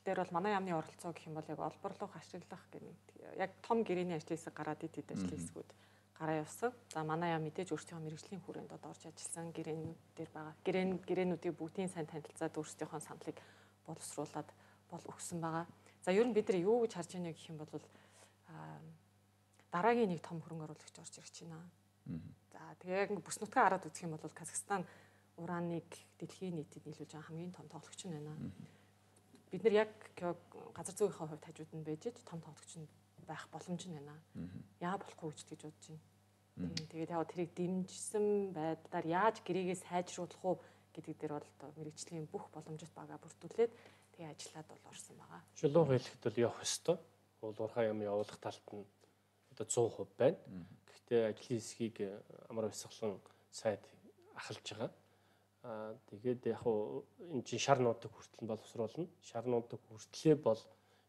дээр бол манай яамны оролцоо гэх юм бол яг олборлох, ашиглах гэх яг том гэрээний ажлын хэсэг гараад ид ид ажлын хэсгүүд гараа явсан. За манай яам мэдээж өөрсдийнхөө мэрэгжлийн хүрээнд одоо орж ажилласан гэрээнүүд дээр байгаа. Гэрээн гэрээнүүдийг бүгдийн сайн танилцаад өөрсдийнхөө саналыг боловсруулад бол өгсөн байгаа. За ер нь бид нар юу гэж харж байна гэх юм бол дараагийн нэг том хөрөнгө оруулагч орж ирж байна. За тэгээ яг бүс нутгаа хараад үзэх юм бол Казахстан урааныг дэлхийн нийтэд нийлүүлж байгаа хамгийн том тоглогч нь байна. Бид нар яг газар зүйнийхээ хувьд хажууд нь байж том тоглогч нь байх боломж нь байна. Яа болохгүй ч гэж бодож байна. Тэгээд яг тэрийг дэмжсэн байдлаар яаж гэрээгээ сайжруулах уу гэдэг дээр бол одоо мэрэгжлийн бүх боломжит бага бүрдүүлээд тэгээ ажиллаад бол орсон байгаа. Шулуух хэлэхэд бол явах ёстой. Уул уурхай юм явуулах талд нь одоо one hundred percent байна. Гэхдээ ажлын хэсгийг амар бясалган сайд ахалж байгаа. Аа тэгээд яг хуу энэ чинь шар нуудаг хүртэл нь боловсруулна. Шар нуудаг хүртлээ бол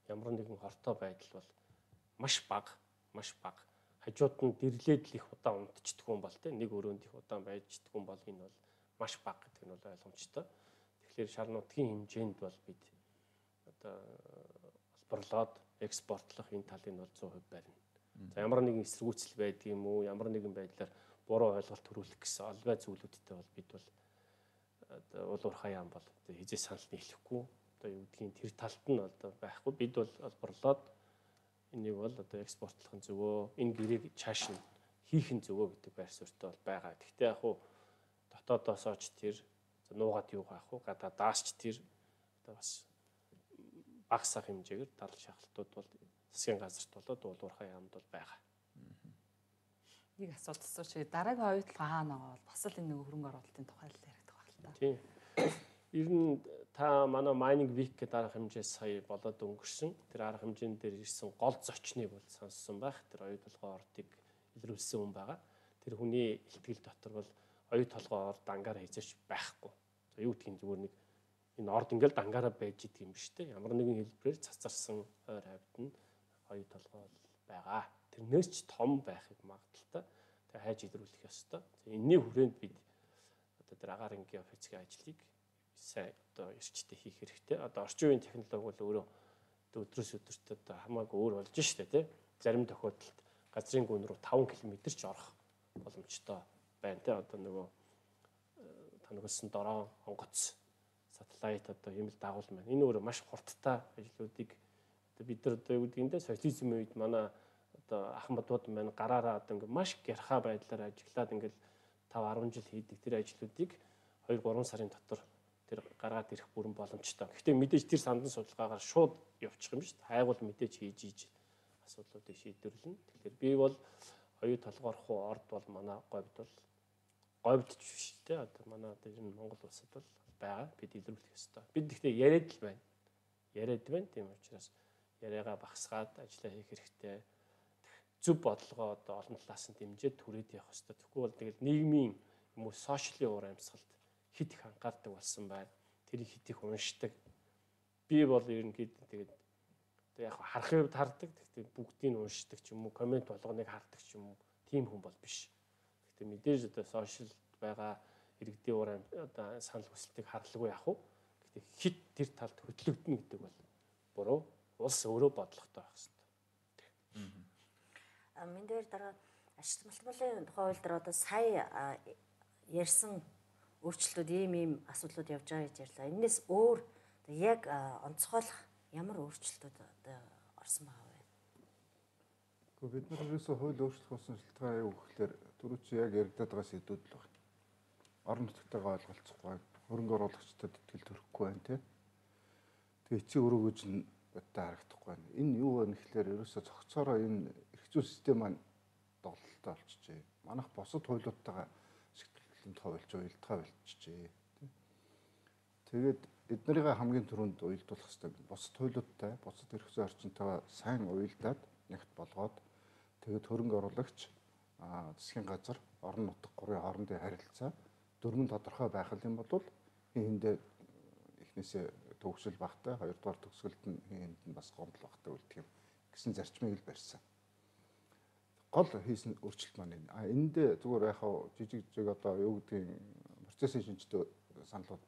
ямар нэгэн хортой байдал бол маш бага, маш бага. Хажууд нь дэрлээд л их удаан унтчихдаг юм бол тэ нэг өрөөнд их удаан байждаг юм бол энэ бол маш бага гэдэг нь бол ойлгомжтой. Тэгэхээр шар нутгийн хэмжээнд бол бид одоо олборлоод экспортлох энэ талын бол one hundred percent барина. За ямар нэгэн эсэргүүцэл байдаг юм уу, ямар нэгэн байдлаар буруу ойлголт төрүүлэх гэсэн олбай зүйлүүдтэй бол бид бол одоо уул уурхай яам бол одоо хизээ санал нийлэхгүй. Одоо юу гэдгийг тэр талд нь одоо байхгүй. Бид бол олборлоод энийг бол одоо экспортлох нь зөвөө, энэ гэрээг чааш нь хийх нь зөвөө гэдэг байр суурьтай бол байгаа. Гэхдээ яг хуу дотоодоосооч тэр нуугаад юу gaах вэ? Гадаадаас ч тэр одоо бас багасах хэмжээгээр дал шахалтууд бол засгийн газарт болоод уул уурхай яамд бол байгаа. Нэг асуулт асууч. Дараагийн оюутлага хаана байгаа бол бас л энэ нэг хөрөнгө оруулалтын тухай л яригдах байна л да. Тийм. Ер нь та манай mining week гэдэг арга хэмжээ сая болоод өнгөрсөн. Тэр арга хэмжээнд дээр ирсэн гол зочныг бол сонссон байх. Тэр оюу толгой ордыг илрүүлсэн хүн байгаа. Тэр хүний ихтгэл дотор бол оюу толгой орд ангаар хийжээч байхгүй. За юу гэдгийг зүгээр нэг энэ орд ингээл дангаараа байж идэг юм шүү дээ. Ямар нэгэн хэлбэрээр цацарсан ойр хавьд нь оюу толгой байгаа. Тэрнээс ч том байхыг магадaltaй. Тэгээ хайж илрүүлэх ёстой. Энэний хүрээнд бид одоо тэр агаар ангийн офицгийн ажлыг сайн одоо эрчтэй хийх хэрэгтэй. Одоо орчин үеийн технологи бол өөрөө өдрөөс өдөрт одоо хамаагүй өөр болж штэ тий. Зарим тохиолдолд газрын гүн рүү таван километр ч орох боломжтой байна тий. Одоо нөгөө танигдсан дороо онгоц сателлайт одоо юм л дагуул маань. Энэ өөрөө маш хурдтай ажлуудыг одоо бид нар одоо юу гэдгийг социализмын үед манай одоо ах мадууд маань гараараа одоо ингээ маш гярхаа байдлаар ажиглаад ингээл таван арван жил хийдэг тэр ажлуудыг хоёр гурван сарын дотор тэр гаргаад ирэх бүрэн боломжтой. Гэхдээ мэдээж тэр сандан судалгаагаар шууд явчих юм шүү дээ. Хайгуул мэдээж хийж ийж асуудлуудыг шийдвэрлэнэ. Тэгэхээр би бол оюу толгоорох уу орд бол манай говьд бол говьд ч биш дээ. Одоо манай одоо энэ Монгол улсад бол байгаа. Бид илрүүлэх ёстой. Бид гэхдээ яриад л байна. Яриад байна. Тийм учраас яриагаа багсгаад ажиллаа хийх хэрэгтэй. Зөв бодлогоо одоо олон талаас нь дэмжиж түрээд явах ёстой. Тэгэхгүй бол тэгэл нийгмийн юм уу сошиалын уур амьсгалд хит их анхаардаг болсон байна. Тэрийг хит их уншдаг. Би бол ерөнхийдөө тэгээд одоо яг харахын хувьд хардаг. Гэхдээ бүгдийг нь уншдаг ч юм уу, комент болгоныг хардаг ч юм уу, тийм хүн бол биш. Гэхдээ мэдээж одоо сошиалд байгаа иргэдийн уур одоо санал хүсэлтийг харлахгүй яах вэ? Гэхдээ хит тэр талд хөтлөгдөнө гэдэг бол буруу. Улс өөрөө бодлоготой байх хэрэгтэй. А мен дээр дараа ашиг малтмалын тухай хууль дээр одоо сая ярьсан өөрчлөлтүүд ийм ийм асуудлууд явж байгаа гэж ярьлаа. Энээс өөр яг онцгойлох ямар өөрчлөлтүүд одоо орсон байгаа вэ? Гэхдээ бид нар ерөөсөө хууль өөрчлөх болсон шалтгаан юу гэхээр түрүү чи яг яригадаад байгаа сэдвүүд л байна. Орон нутгатайгаа ойлголцохгүй, хөрөнгө оруулагчдад итгэл төрөхгүй байна тий. Тэгээ эцсийн өрөөгөөж нь бодтой харагдахгүй байна. Энэ юу вэ гэхээр ерөөсөө цогцоороо энэ эрх зүйн систем маань доголдолтой болчихжээ. Манайх бусад хуулиудтайгаа ашиглалтанд хавилж уялдгаа болчихжээ. Тэгээд эднэрийг хамгийн түрүүнд уялдуулах хэрэгтэй. Бусад хуулиудтай, бусад эрх зүйн орчинтойгоо сайн уялдаад нэгт болгоод тэгээд хөрөнгө оруулагч, засгийн газар, орон нутаг гурвын хоорондын харилцаа дөрмөн тодорхой байх юм бол хийндээ эхнээсээ төгсөл багтай, хоёрдугаар төгсгөлд нь хийнд нь бас гомдол багтай үлдэх юм гэсэн зарчмыг л барьсан. Гол хийсэн өөрчлөлт маань энэ. А энд зүгээр яг жижиг жижиг одоо юу гэдгийг процессын шинжтэй саналууд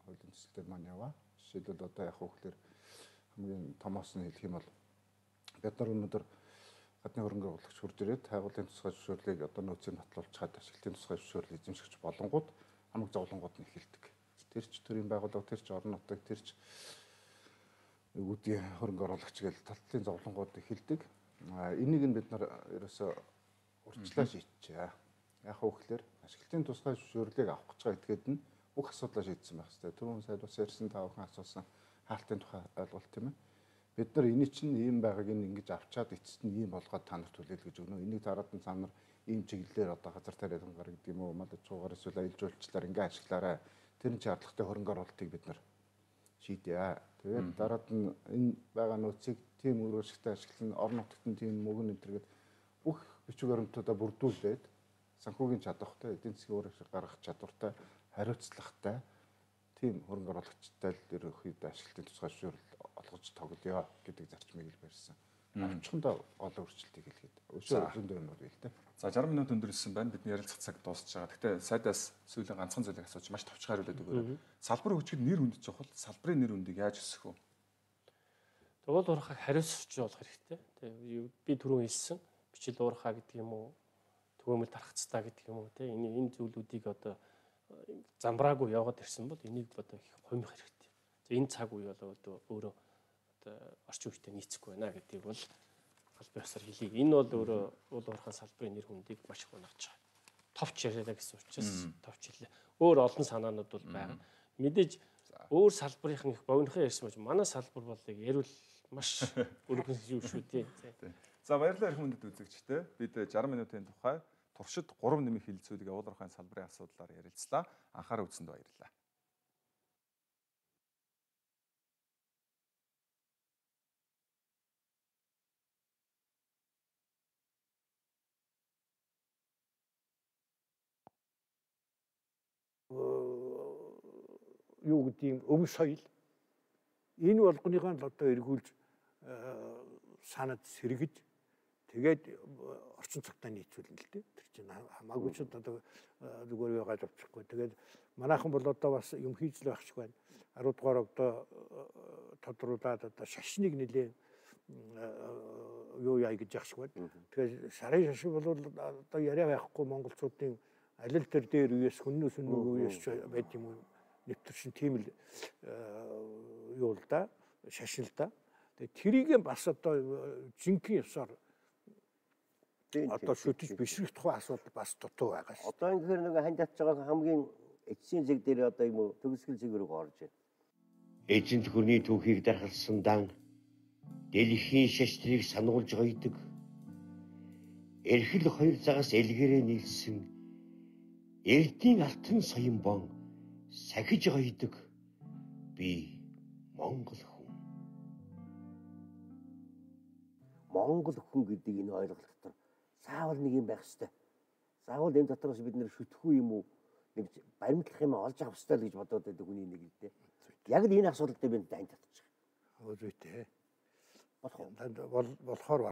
хуулийн төсөлтөд маань яваа. Жишээлбэл одоо яг хөөхлөөр хамгийн томоос нь хэлэх юм бол бид нар өнөөдөр гадны хөрөнгө оруулагч хурж ирээд хайгуулын тусгай зөвшөөрлийг одоо нөөцөөр нотлуулж чад ашиглалтын тусгай зөвшөөрлийг эзэмшигч болонгууд хамаг зовлонгууд нь эхэлдэг. Тэр ч төрийн байгууллага, тэр ч орон нутаг, тэр ч үүдийн хөрөнгө оруулагч гэж талтлын зовлонгууд эхэлдэг. Энийг нь бид нар ерөөсөө урьдчилан шийдчихээ. Яг хөөхлөөр ашиглалтын тусгай зөвшөөрлийг авах гэж байгаа этгээд нь бүх асуудлаа шийдсэн байх хэрэгтэй. Түрүүн сайд бас ярьсан та бүхэн асуусан хаалтын тухай ойлголт тийм ээ. Бид нар энэ чинь ийм байгааг ингэж авчаад эцэст нь ийм болгоод та нарт хүлээлгэж өгнө. Энийг дараад нь та нар ийм чиглэлээр одоо газар тариалан гараг гэдэг юм уу, мал аж ахуйгаар эсвэл аялал жуулчлалаар ингэ ашиглаарай. Тэр нь шаардлагатай хөрөнгө оруулалтыг бид нар шийдээ. Тэгээд дараад нь энэ байгаа нөөцийг тийм үр ашигтай ашиглан орон нутагт нь тийм мөнгө нэмтэргээд бүх бичиг баримтуудаа бүрдүүлээд санхүүгийн чадвартай, эдийн засгийн үр ашиг гаргах чадвартай, хариуцлагатай тийм хөрөнгө оруулагчтай л ерөнхийдөө ашиглалтын тусгай зөвшөөрөл олгож тоглоё гэдэг зарчмыг л барьсан. Авчихандаа гол өөрчлөлтийг хэлгээд. Өшөө зөндөө юм уу л дээ. За жаргал минут өндөрлсөн байна. Бидний ярилцах цаг дуусч байгаа. Гэхдээ сайдаас сүүлийн ганцхан зүйлийг асууж маш товчхон хариулаад өгөөрэй. Салбар хөгжихэд нэр хүнд чухал. Салбарын нэр хүндийг яаж өсгөх вэ? Тэгвэл уурхайг хариуцч болох хэрэгтэй. Тэгээ би түрүүн хэлсэн бичил уурхай гэдэг юм уу, төгөөмөл тархацтай гэдэг юм уу те энэ энэ зүйлүүдийг одоо замбраагүй яваад ирсэн бол энийг одоо их хумих хэрэгтэй. За энэ цаг үе бол одоо өөрөө одоо орчин үетэй нийцэхгүй байна гэдгийг бол албан ёсоор хэлье. Энэ бол өөрөө уул уурхайн салбарын нэр хүндийг маш их унагч байгаа. Товч яриалаа гэсэн учраас товч хэлээ. Өөр олон санаанууд бол байна. Мэдээж өөр салбарынхан их богинохон ярьсан байж манай салбар бол ярил маш өргөн шүү шүү тий. За баярлалаа эрх мөндөд үзэгчтэй. Бид жаргал минутын тухай туршид гурав нэмэх хилцүүлэг уул уурхайн салбарын асуудлаар ярилцлаа. Анхаарал үзсэнд баярлалаа. юу гэдгийг өв соёл энэ болгоныхоо л одоо эргүүлж санаад сэргэж тэгээд орчин цагтаа нийцүүлнэ л дээ. Тэр чинь хамаагүй ч одоо зүгээр яагаад авчихгүй. Тэгээд манайхан бол одоо бас юм хийж л байх шиг байна. арав дугаар одоо тодруулаад одоо шашныг нэлээ юу яа гэж яах шиг байна. Тэгэхээр сарын шашин бол одоо яриа байхгүй монголчуудын алил төр дээр үеэс хүннөөс нүг үеэс байд юм уу нэвтэршин тийм л юу л да шашин л да. Тэгээ тэрийг бас одоо жинхэнэ ёсоор одоо шүтэж бишрэх тухай асуудал бас дутуу байгаа шүү. Одоо ингэхээр нэг ханд татж байгаа хамгийн эцсийн зэг дээр одоо юм уу төгсгөл зэг рүү орж байна. Эзэнт хүрний түүхийг дархалсан дан дэлхийн шаштрыг сануулж гоёдаг. Эрхэл хоёр загас элгэрээ нийлсэн эрдийн алтан соён бон сахиж гоёдаг би монгол хүн. Монгол хүн гэдэг энэ ойлголт дотор заавал нэг юм байх ёстой. Заавал энэ дотроос бид нэр шүтгэхгүй юм уу? Нэг баримтлах юм олж авах ёстой л гэж бодоод байдаг хүний нэг л дээ. Яг л энэ асуудал дээр би дайнд татчих. Өө зүйтэй. Болох уу? Болохоор